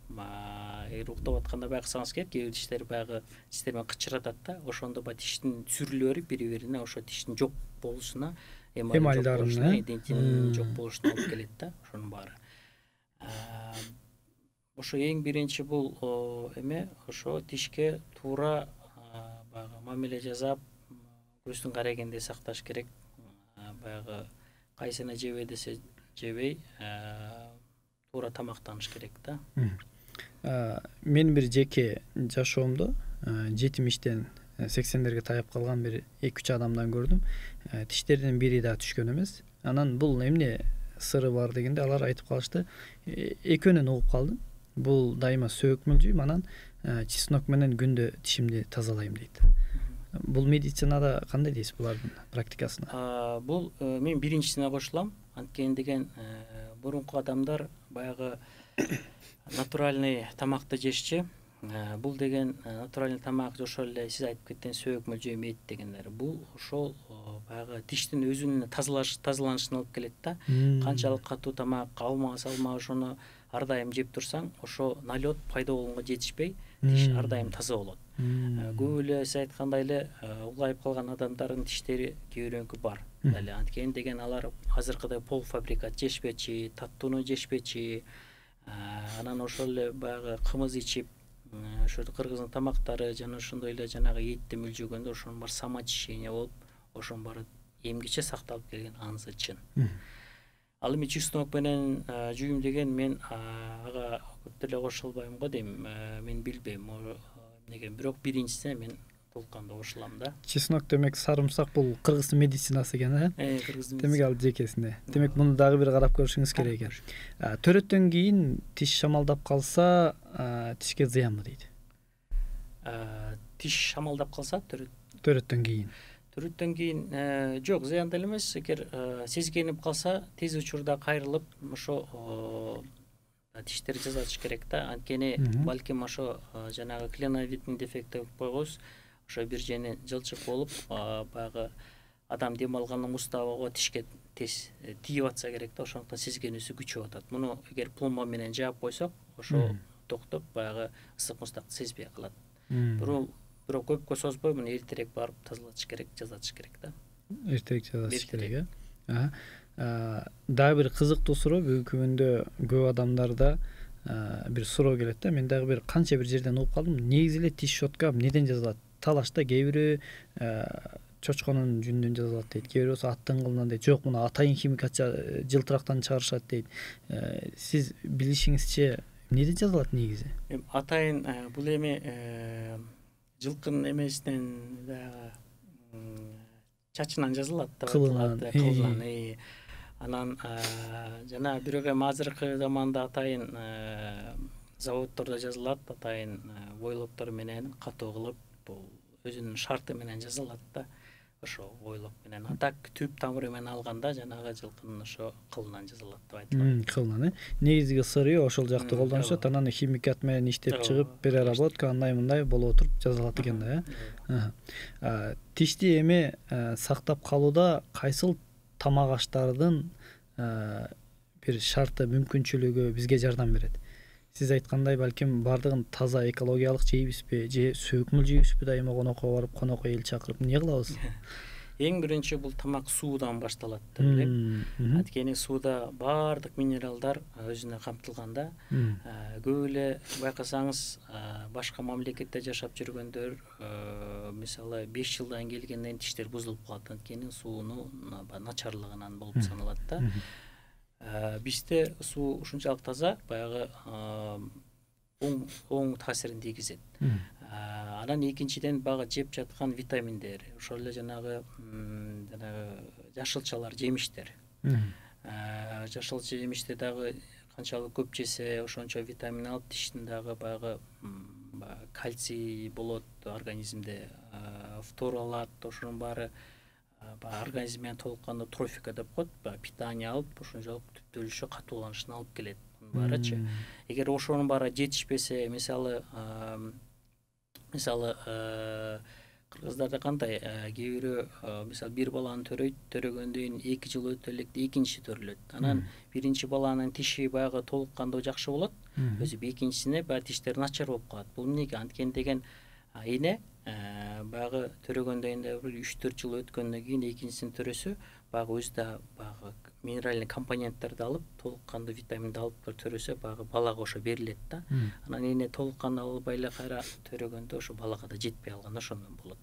эгер уктап атканда байкасаңыз керек, кээ бир тиштер баягы тиштер менен кычыратат да. Ошондо баягы тиштин сүрүлө берип бири-бирине ошо тиштин жок болушуна, эмалдын дентинин жок болушуна алып келет да, ошонун баары. Ошо эң биринчи бул эме ошо тишке туура баягы мамиле жасап, көздүн карегенде сакташ керек. Баягы кайсына жебей десе жебей, туура тамактаныш керек да. Мен бир жеке жашоомдо 70-тен 80-дерге таяп калган бир 2-3 адамдан көрдүм. Тиштеринин бири да түшкөн эмес. Анан бул эмне сыры бар дегенде алар айтып калышты. Экөөнөн угуп калдым. Бул дайыма сөөкмөл жүйм, анан чеснок менен күндө тишимди тазалайм дейт. Бул медицинада кандай дейсиз булардын практикасына? Бул мен биринчисине кошулам. Анткени деген мурунку адамдар баягы натуральный тамакты жешчи. Бул деген натуральный тамак ошол эле сиз айтып кеткен сөөк мөлжөм эт дегендер. Бул ошол баягы тиштин өзүнүн тазаланышына алып келет да. Канчалык катуу тамак алма салма ошону ар дайым жеп турсаң, ошо налет пайда болгонго жетишпей, тиш ар дайым таза болот. Көп эле сиз айткандай эле улайып калган адамдардын тиштери кээ бирөөнүкү бар. Дали анткени деген алар азыркыдай полуфабрикат жешпечи, таттууну жешпечи, анан ошол эле баягы кымыз ичип, ошо кыргыздын тамактары жана ошондой эле жанагы этти мүлжөгөндө ошонун баары самоочищение болуп, ошонун баары эмгиче сакталып келген анысы чын. Ал эми чеснок менен жүйүм деген мен ага көп деле кошо албайм го дейм. Мен билбейм эмнеге, бирок биринчисине мен толкундуу кошулам да. Чеснок демек сарымсак бул кыргыздын медицинасы экен, кыргыздын. Демек ал жекесинде. Демек муну дагы бир карап көрүшүңүз керек экен. Төрөттөн кийин тиш шамалдап калса, тишке зыянбы дейт? Тиш шамалдап калса төрөттөн кийин. Төрөттөн кийин жок, зыян деле эмес. Эгер сезгенип калса, тез учурда кайрылып, ошо тиштерди жазатыш керек да. Анткени балким ошо жанагы клиновидный дефект деп койгус, ошо бир жени жылчык болуп, баягы адам дем алгандын уставыгы тишке тез тийип атса керек да, ошондуктан сезгенүүсү күчөп атат. Муну эгер пломба менен жаап койсок, ошо токтоп, баягы ысык муздакты сезбей калат. Бирок көпкө созбой муну эртерээк барып тазалатыш керек, жазатыш керек да. Эртерээк жазатыш керек, Дагы бир кызыктуу суроо, бүгүнкү күндө көп адамдарда бир суроо келет да. Мен дагы бир канча бир жерден угуп калдым. Негизи эле тиш щетка эмнеден жасалат? Талашта кээ бири чочконун жүнүнөн жасалат дейт, кээ бирөөсү аттын кылынан дейт. Жок, муну атайын химикат жылтырактан чыгарышат дейт. Сиз билишиңизче эмнеден жасалат негизи? Атайын бул эми жылкынын эмесинен чачынан жазылат да, кылынан. Анан жана бирок эми азыркы заманда атайын заводдордо жазылат, атайын войлоктор менен катуу кылып, бул өзүнүн шарты менен жазылат да. Ошо войлок менен атак түп тамыры менен алганда жанагы жылкынын ошо кылынан жазылат деп айтылат. Кылынан, негизги сыры ошол жакты колдонушат, анан химикат менен иштеп чыгып, переработка андай мындай болуп отуруп жазылат экен да. Тишти эми сактап калууда кайсыл тамак аштардын бир шарты, мүмкүнчүлүгү бизге жардам берет? Сиз айткандай, балким бардыгын таза экологиялык жейбизби, же сөөк мөлжөйбүзбү дайыма конокко барып, конокко эл чакырып эмне кылабыз? Эң биринчи бул тамак суудан башталат деп элем. Анткени сууда баардык минералдар өзүнө камтылган да. Көп эле байкасаңыз, башка мамлекетте жашап жүргөндөр, мисалы 5 жылдан келгенден тиштер бузулуп калат, анткени суунун начарлыгынан болуп саналат да. Бизде суу ушунчалык таза, баягы оң таасирин тийгизет. Анан экинчиден баягы жеп жаткан витаминдер, ошол эле жанагы жашылчалар, жемиштер. Жашылча жемишти дагы канчалык көп жесе, ошончо витамин алып, тиштин дагы баягы кальций болот организмде, фтор алат, ошонун баары организм менен толук кандуу трофика деп коет, питание алып, ошончолук түптөлүшү, катууланышына алып келет. Баарычы. Эгер ошонун баары жетишпесе, мисалы кыргыздарда кандай, кээ бирөө мисалы бир баланы төрөйт, төрөгөндөн кийин 2 жыл өтө элек экинчиси төрөлөт. Анан биринчи баланын тиши баягы толук кандуу жакшы болот, өзү экинчисине баягы тиштери начар болуп калат. Бул эмнеге? Анткени деген эне баягы төрөгөндөн кийин 3-4 жыл өткөндөн кийин экинчисин төрөсө, баягы өзү да баягы минеральный компоненттерди алып, толук кандуу витаминди алып төрөсө, баягы балага ошо берилет да. Анан эне толук кандуу албай эле кайра төрөгөндө ошо балага да жетпей калганда ошондон болот.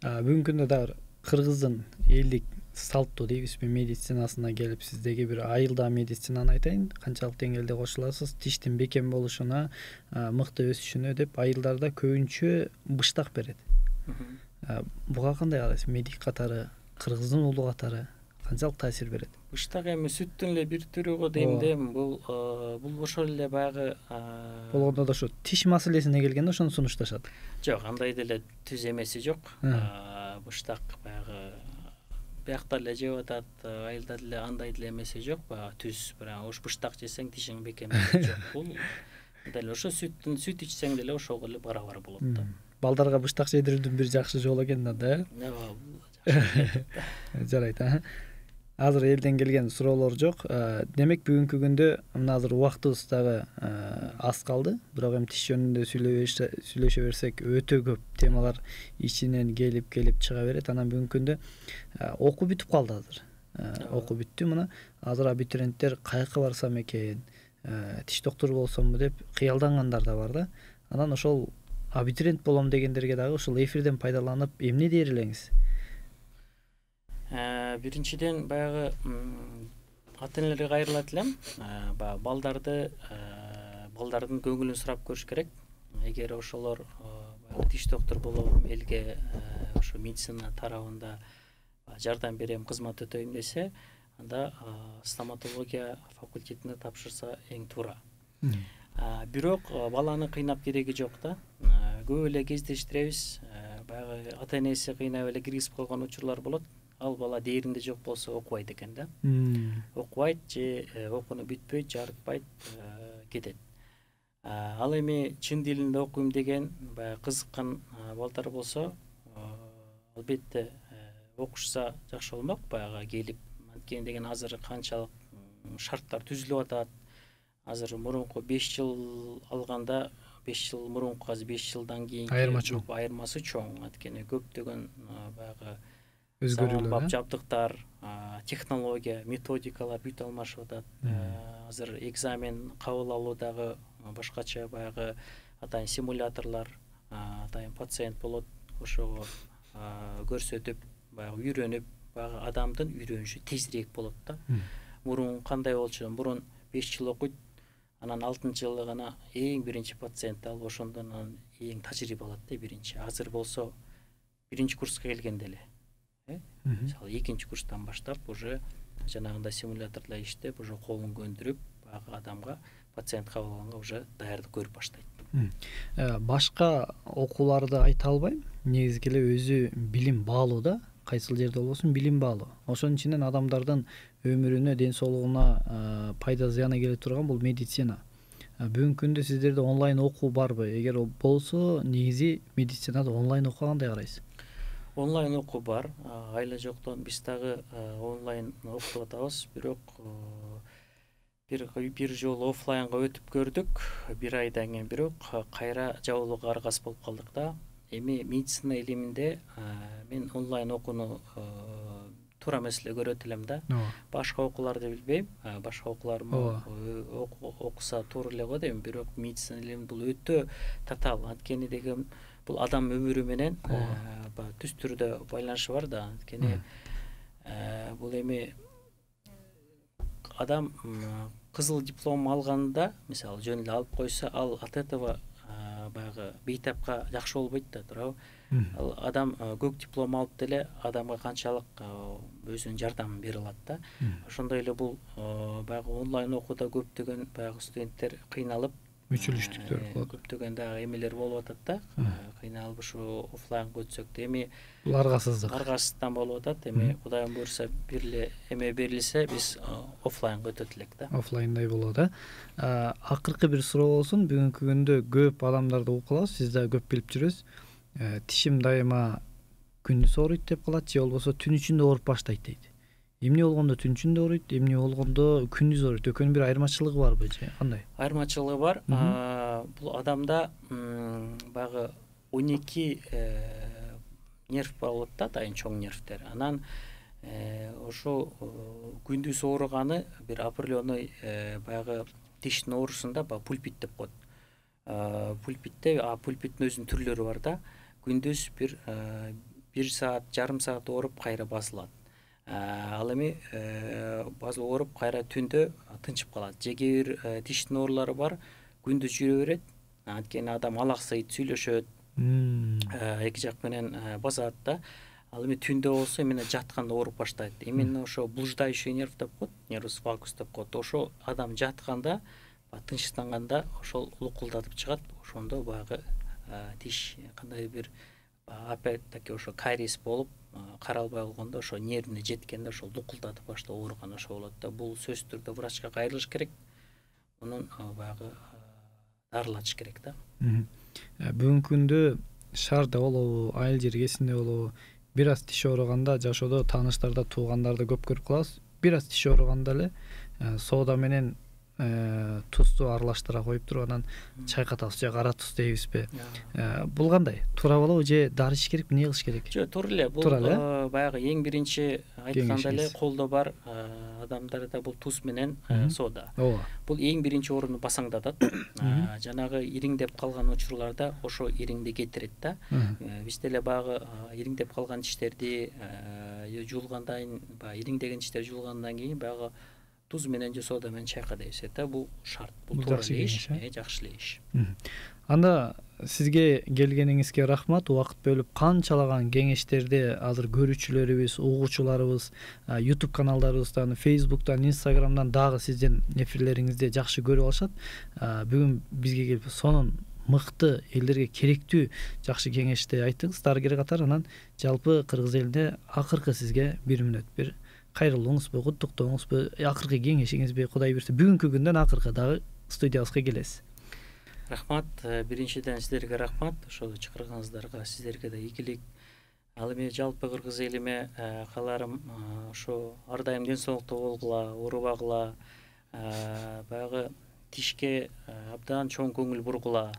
Бүгүнкү күндө дагы кыргыздын элдик салттуу дейбизби медицинасына келип, сиздеги бир айылда медицинаны айтайын, канчалык деңгээлде кошуласыз, тиштин бекем болушуна, мыкты өсүшүнө деп айылдарда көбүнчө быштак берет. Буга кандай карайсыз? Медик катары, кыргыздын улуу катары канчалык таасир берет? Быштак эми сүттүн эле бир түрү го дейм да. Бул ошол эле баягы болгондо да ошо тиш маселесине келгенде ошону сунушташат. Жок, андай деле түз эмеси жок. Быштак баягы биякта эле жеп атат, айылда деле андай деле эмеси жок, баягы түз баягы ош быштак жесең тишиң бекем жок. Бул дел ошо сүт ичсең деле ошого эле барабар болот да. Балдарга быштак жедирүүдүн бир жакшы жолу экен да. Ооба, жакшы. Жарайт. Азыр элден келген суроолор жок. Демек бүгүнкү күндө мына азыр убактыбыз дагы аз калды. Бирок эми тиш жөнүндө сүйлөшө берсек өтө көп темалар ичинен келип чыга берет. Анан бүгүнкү күндө окуу бүтүп калды азыр. Окуу бүттү. Мына азыр абитуриенттер каяка барсам экен, тиш доктору болсомбу деп кыялдангандар да бар да. Анан ошол абитуриент болом дегендерге дагы ушул эфирден пайдаланып эмне дээр элеңиз? Биринчиден баягы ата-энелерге кайрылат элем. Баягы балдардын көңүлүн сурап көрүш керек. Эгер ошолор тиш доктор болом, элге ошо медицина тарабында жардам берем, кызмат өтөйм десе, анда стоматология факультетине тапшырса эң туура. Бирок баланы кыйнап кереги жок да. Көп эле кездештиребиз. Баягы ата-энеси кыйнап эле киргизип койгон учурлар болот. Ал бала дээринде жок болсо окубайт экен да. Окубайт же окууну бүтпөйт, жарытпайт, кетет. Ал эми чын дилинде окуйм деген баягы кызыккан балдар болсо, албетте окушса жакшы болмок. Баягы келип, анткени деген азыр канчалык шарттар түзүлүп атат. Азыр мурунку 5 жыл алганда 5 жыл мурунку азыр 5 жылдан кийинки айырмасы чоң. Анткени көптөгөн баягы өзгөрүүлөр, жабдыктар, технология, методикалар бүт алмашып атат. Азыр экзамен кабыл алуу дагы башкача, баягы атайын симуляторлор, атайын пациент болот, ошого көрсөтүп, баягы үйрөнүп, баягы адамдын үйрөнүшү тезирээк болот да. Мурун кандай болчу? Мурун 5 жыл окуйт, анан 6-жылы гана эң биринчи пациентти алып, ошондон анан эң тажрыйба алат да биринчи. Азыр болсо биринчи курска келгенде эле, мисалы 2-курстан баштап уже жанагындай симулятордо иштеп, уже колун көндүрүп, баягы адамга пациент кабыл алганга уже даярдык көрүп баштайт. Башка окууларды айта албайм. Негизги эле өзү билим баалуу да. Кайсыл жерде болбосун билим баалуу. Ошонун ичинен адамдардын өмүрүнө, ден соолугуна пайда зыяны келе турган бул медицина. Бүгүнкү күндө сиздерде онлайн окуу барбы? Эгер болсо, негизи медицинада онлайн окуга кандай карайсыз? Онлайн окуу бар. Айла жоктон биз дагы онлайн окутуп атабыз. Бирок бир жолу офлайнга өтүп көрдүк, 1 айдан кийин. Бирок кайра жабылууга аргасыз болуп калдык да. Эми медицина илиминде мен онлайн окууну туура эмес эле көрөт элем да. Башка окууларды билбейм. Башка окуулар окуса туура эле го дейм. Бирок медицина илими бул өтө татаал. Анткени деген бул адам өмүрү менен түз түрдө байланышы бар да. Анткени бул эми адам кызыл диплом алганда, мисалы жөн эле алып койсо, ал от этого баягы бейтапка жакшы болбойт да, туурабы? Ал адам көк диплом алып деле адамга канчалык өзүнүн жардамын бере алат да. Ошондой эле бул баягы онлайн окууда көптөгөн баягы студенттер кыйналып, мүчүлүштүктөр болот. Көптөгөн дагы эмелер болуп атат да. Кыйналып ушу офлайнга өтсөк да, эми бул аргасыздыктан болуп атат. Эми Кудайым буйрса бир эле эме берилсе, биз офлайнга өтөт элек да. Офлайндай болот да. Акыркы бир суроо болсун. Бүгүнкү күндө көп адамдарды угуп калабыз, сиз да көп билип жүрөсүз. Тишим дайыма күндүз ооруйт деп калат, же болбосо түн ичинде ооруп баштайт дейт. Эмне болгондо түн ичинде ооруйт, эмне болгондо күндүз ооруйт? Экөөнүн бир айырмачылыгы барбы же кандай? Айырмачылыгы бар. Бул адамда баягы 12 нерв болот да, атайын чоң нервтер. Анан ошо күндүз ооруганы бир определенный баягы тиштин оорусунда пульпит деп коет. Пульпиттин өзүнүн түрлөрү бар да. Күндүз бир саат, жарым саат ооруп кайра басылат. Ал эми ооруп кайра түндө тынчып калат. Же кээ бир тиштин оорулары бар, күндүз жүрө берет. Анткени адам алаксыйт, сүйлөшөт, эки жак менен басат да. Ал эми түндө болсо эмне жатканда ооруп баштайт. Именно ошо блуждающий нерв деп коет, нервус вагус деп коет. Ошо адам жатканда, тынчтанганда ошол лукулдатып чыгат. Ошондо баягы тиш кандай бир опять таки ошо кариес болуп каралбай калгондо ошо нервине жеткенде ошол дукулдатып баштап ооруган ошо болот да. Бул сөзсүз түрдө врачка кайрылыш керек, мунун баягы дарылатыш керек да. Бүгүнкү күндө шаарда болобу, айыл жергесинде болобу, бир аз тиш ооруганда жашоодо тааныштарда, туугандарды көп көрүп калабыз. Бир аз тиш ооруганда эле соода менен тузду аралаштыра коюп туруп анан чайкатабыз же кара туз дейбизби? Бул кандай? Туура болобу же дары ич керекпи, эмне кылыш керек? Жок, туура эле. Бул баягы эң биринчи айтканда эле колдо бар адамдарда бул туз менен соода. Бул эң биринчи орунду басаңдатат. Жанагы ириңдеп калган учурларда ошо ириңди кетирет да. Биз деле баягы ириңдеп калган тиштерди жуулгандан кийин, баягы ириңдеген тиштер жуулгандан кийин баягы туз менен же соода менен чайка дейбиз да. Бул шарт. Бул туура эле иш, жакшы эле иш. Анда сизге келгениңизге рахмат. Убакыт бөлүп канчалаган кеңештерди азыр көрүүчүлөрүбүз, угуучуларыбыз YouTube каналдарыбыздан, Facebook'тан, Instagram'дан дагы сиздин эфирлериңизди жакшы көрүп алышат. Бүгүн бизге келип сонун мыкты, элдерге керектүү жакшы кеңешти айттыңыз. Дарыгер катары анан жалпы кыргыз элине акыркы сизге 1 мүнөт бир кайрылууңузбу, куттуктооңузбу, акыркы кеңешиңизби, Кудай буйрса бүгүнкү күндөн акыркы дагы студиябызга келесиз. Рахмат. Биринчиден сиздерге рахмат. Ошол чакырганыңыздарга сиздерге да ийгилик. Ал эми жалпы кыргыз элиме кааларым ошо ар дайым ден соолуктуу болгула, оорубагыла, баягы тишке абдан чоң көңүл бургула.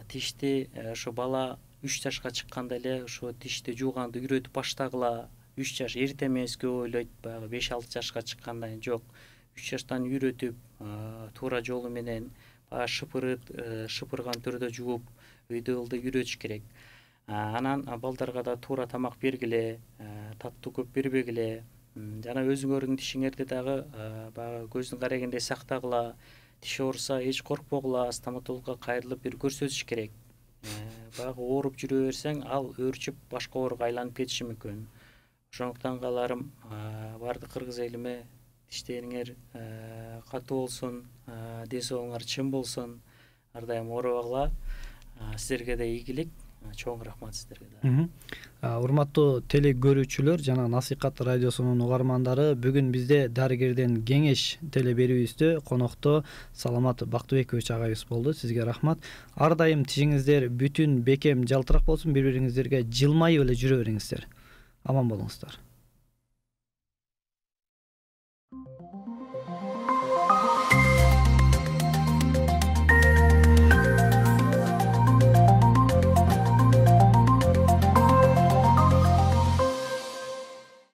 Тишти ошо бала 3 жашка чыкканда эле ошо тишти жууганды үйрөтүп баштагыла. 3 жаш эрте эмес көп ойлойт, баягы 5-6 жашка чыккандан кийин жок. 3 жаштан үйрөтүп, туура жолу менен шыпырган түрдө жууп, өйдө ылдый үйрөтүш керек. Анан балдарга да туура тамак бергиле, таттуу көп бербегиле. Жана өзүңөрдүн тишиңерди дагы баягы көздүн карегиндей сактагыла. Тиш ооруса эч коркпогула, стоматологко кайрылып бир көрсөтүш керек. Баягы ооруп жүрө берсең, ал өөрчүп башка ооруга айланып кетиши мүмкүн. Ошондуктан кааларым баардык кыргыз элиме тиштериңер катуу болсун, ден соолугуңар чың болсун, ар дайым оорубагыла. Сиздерге да ийгилик. Чоң рахмат сиздерге да. Урматтуу теле көрүүчүлөр жана Насыйкат радиосунун угармандары, бүгүн бизде дарыгерден кеңеш теле берүүбүздө конокто Саламат Бактыбекович агайыбыз болду. Сизге рахмат. Ар дайым тишиңиздер бүтүн, бекем, жалтырак болсун, бири-бириңиздерге жылмайып эле жүрө бериңиздер. Аман болуңуздар.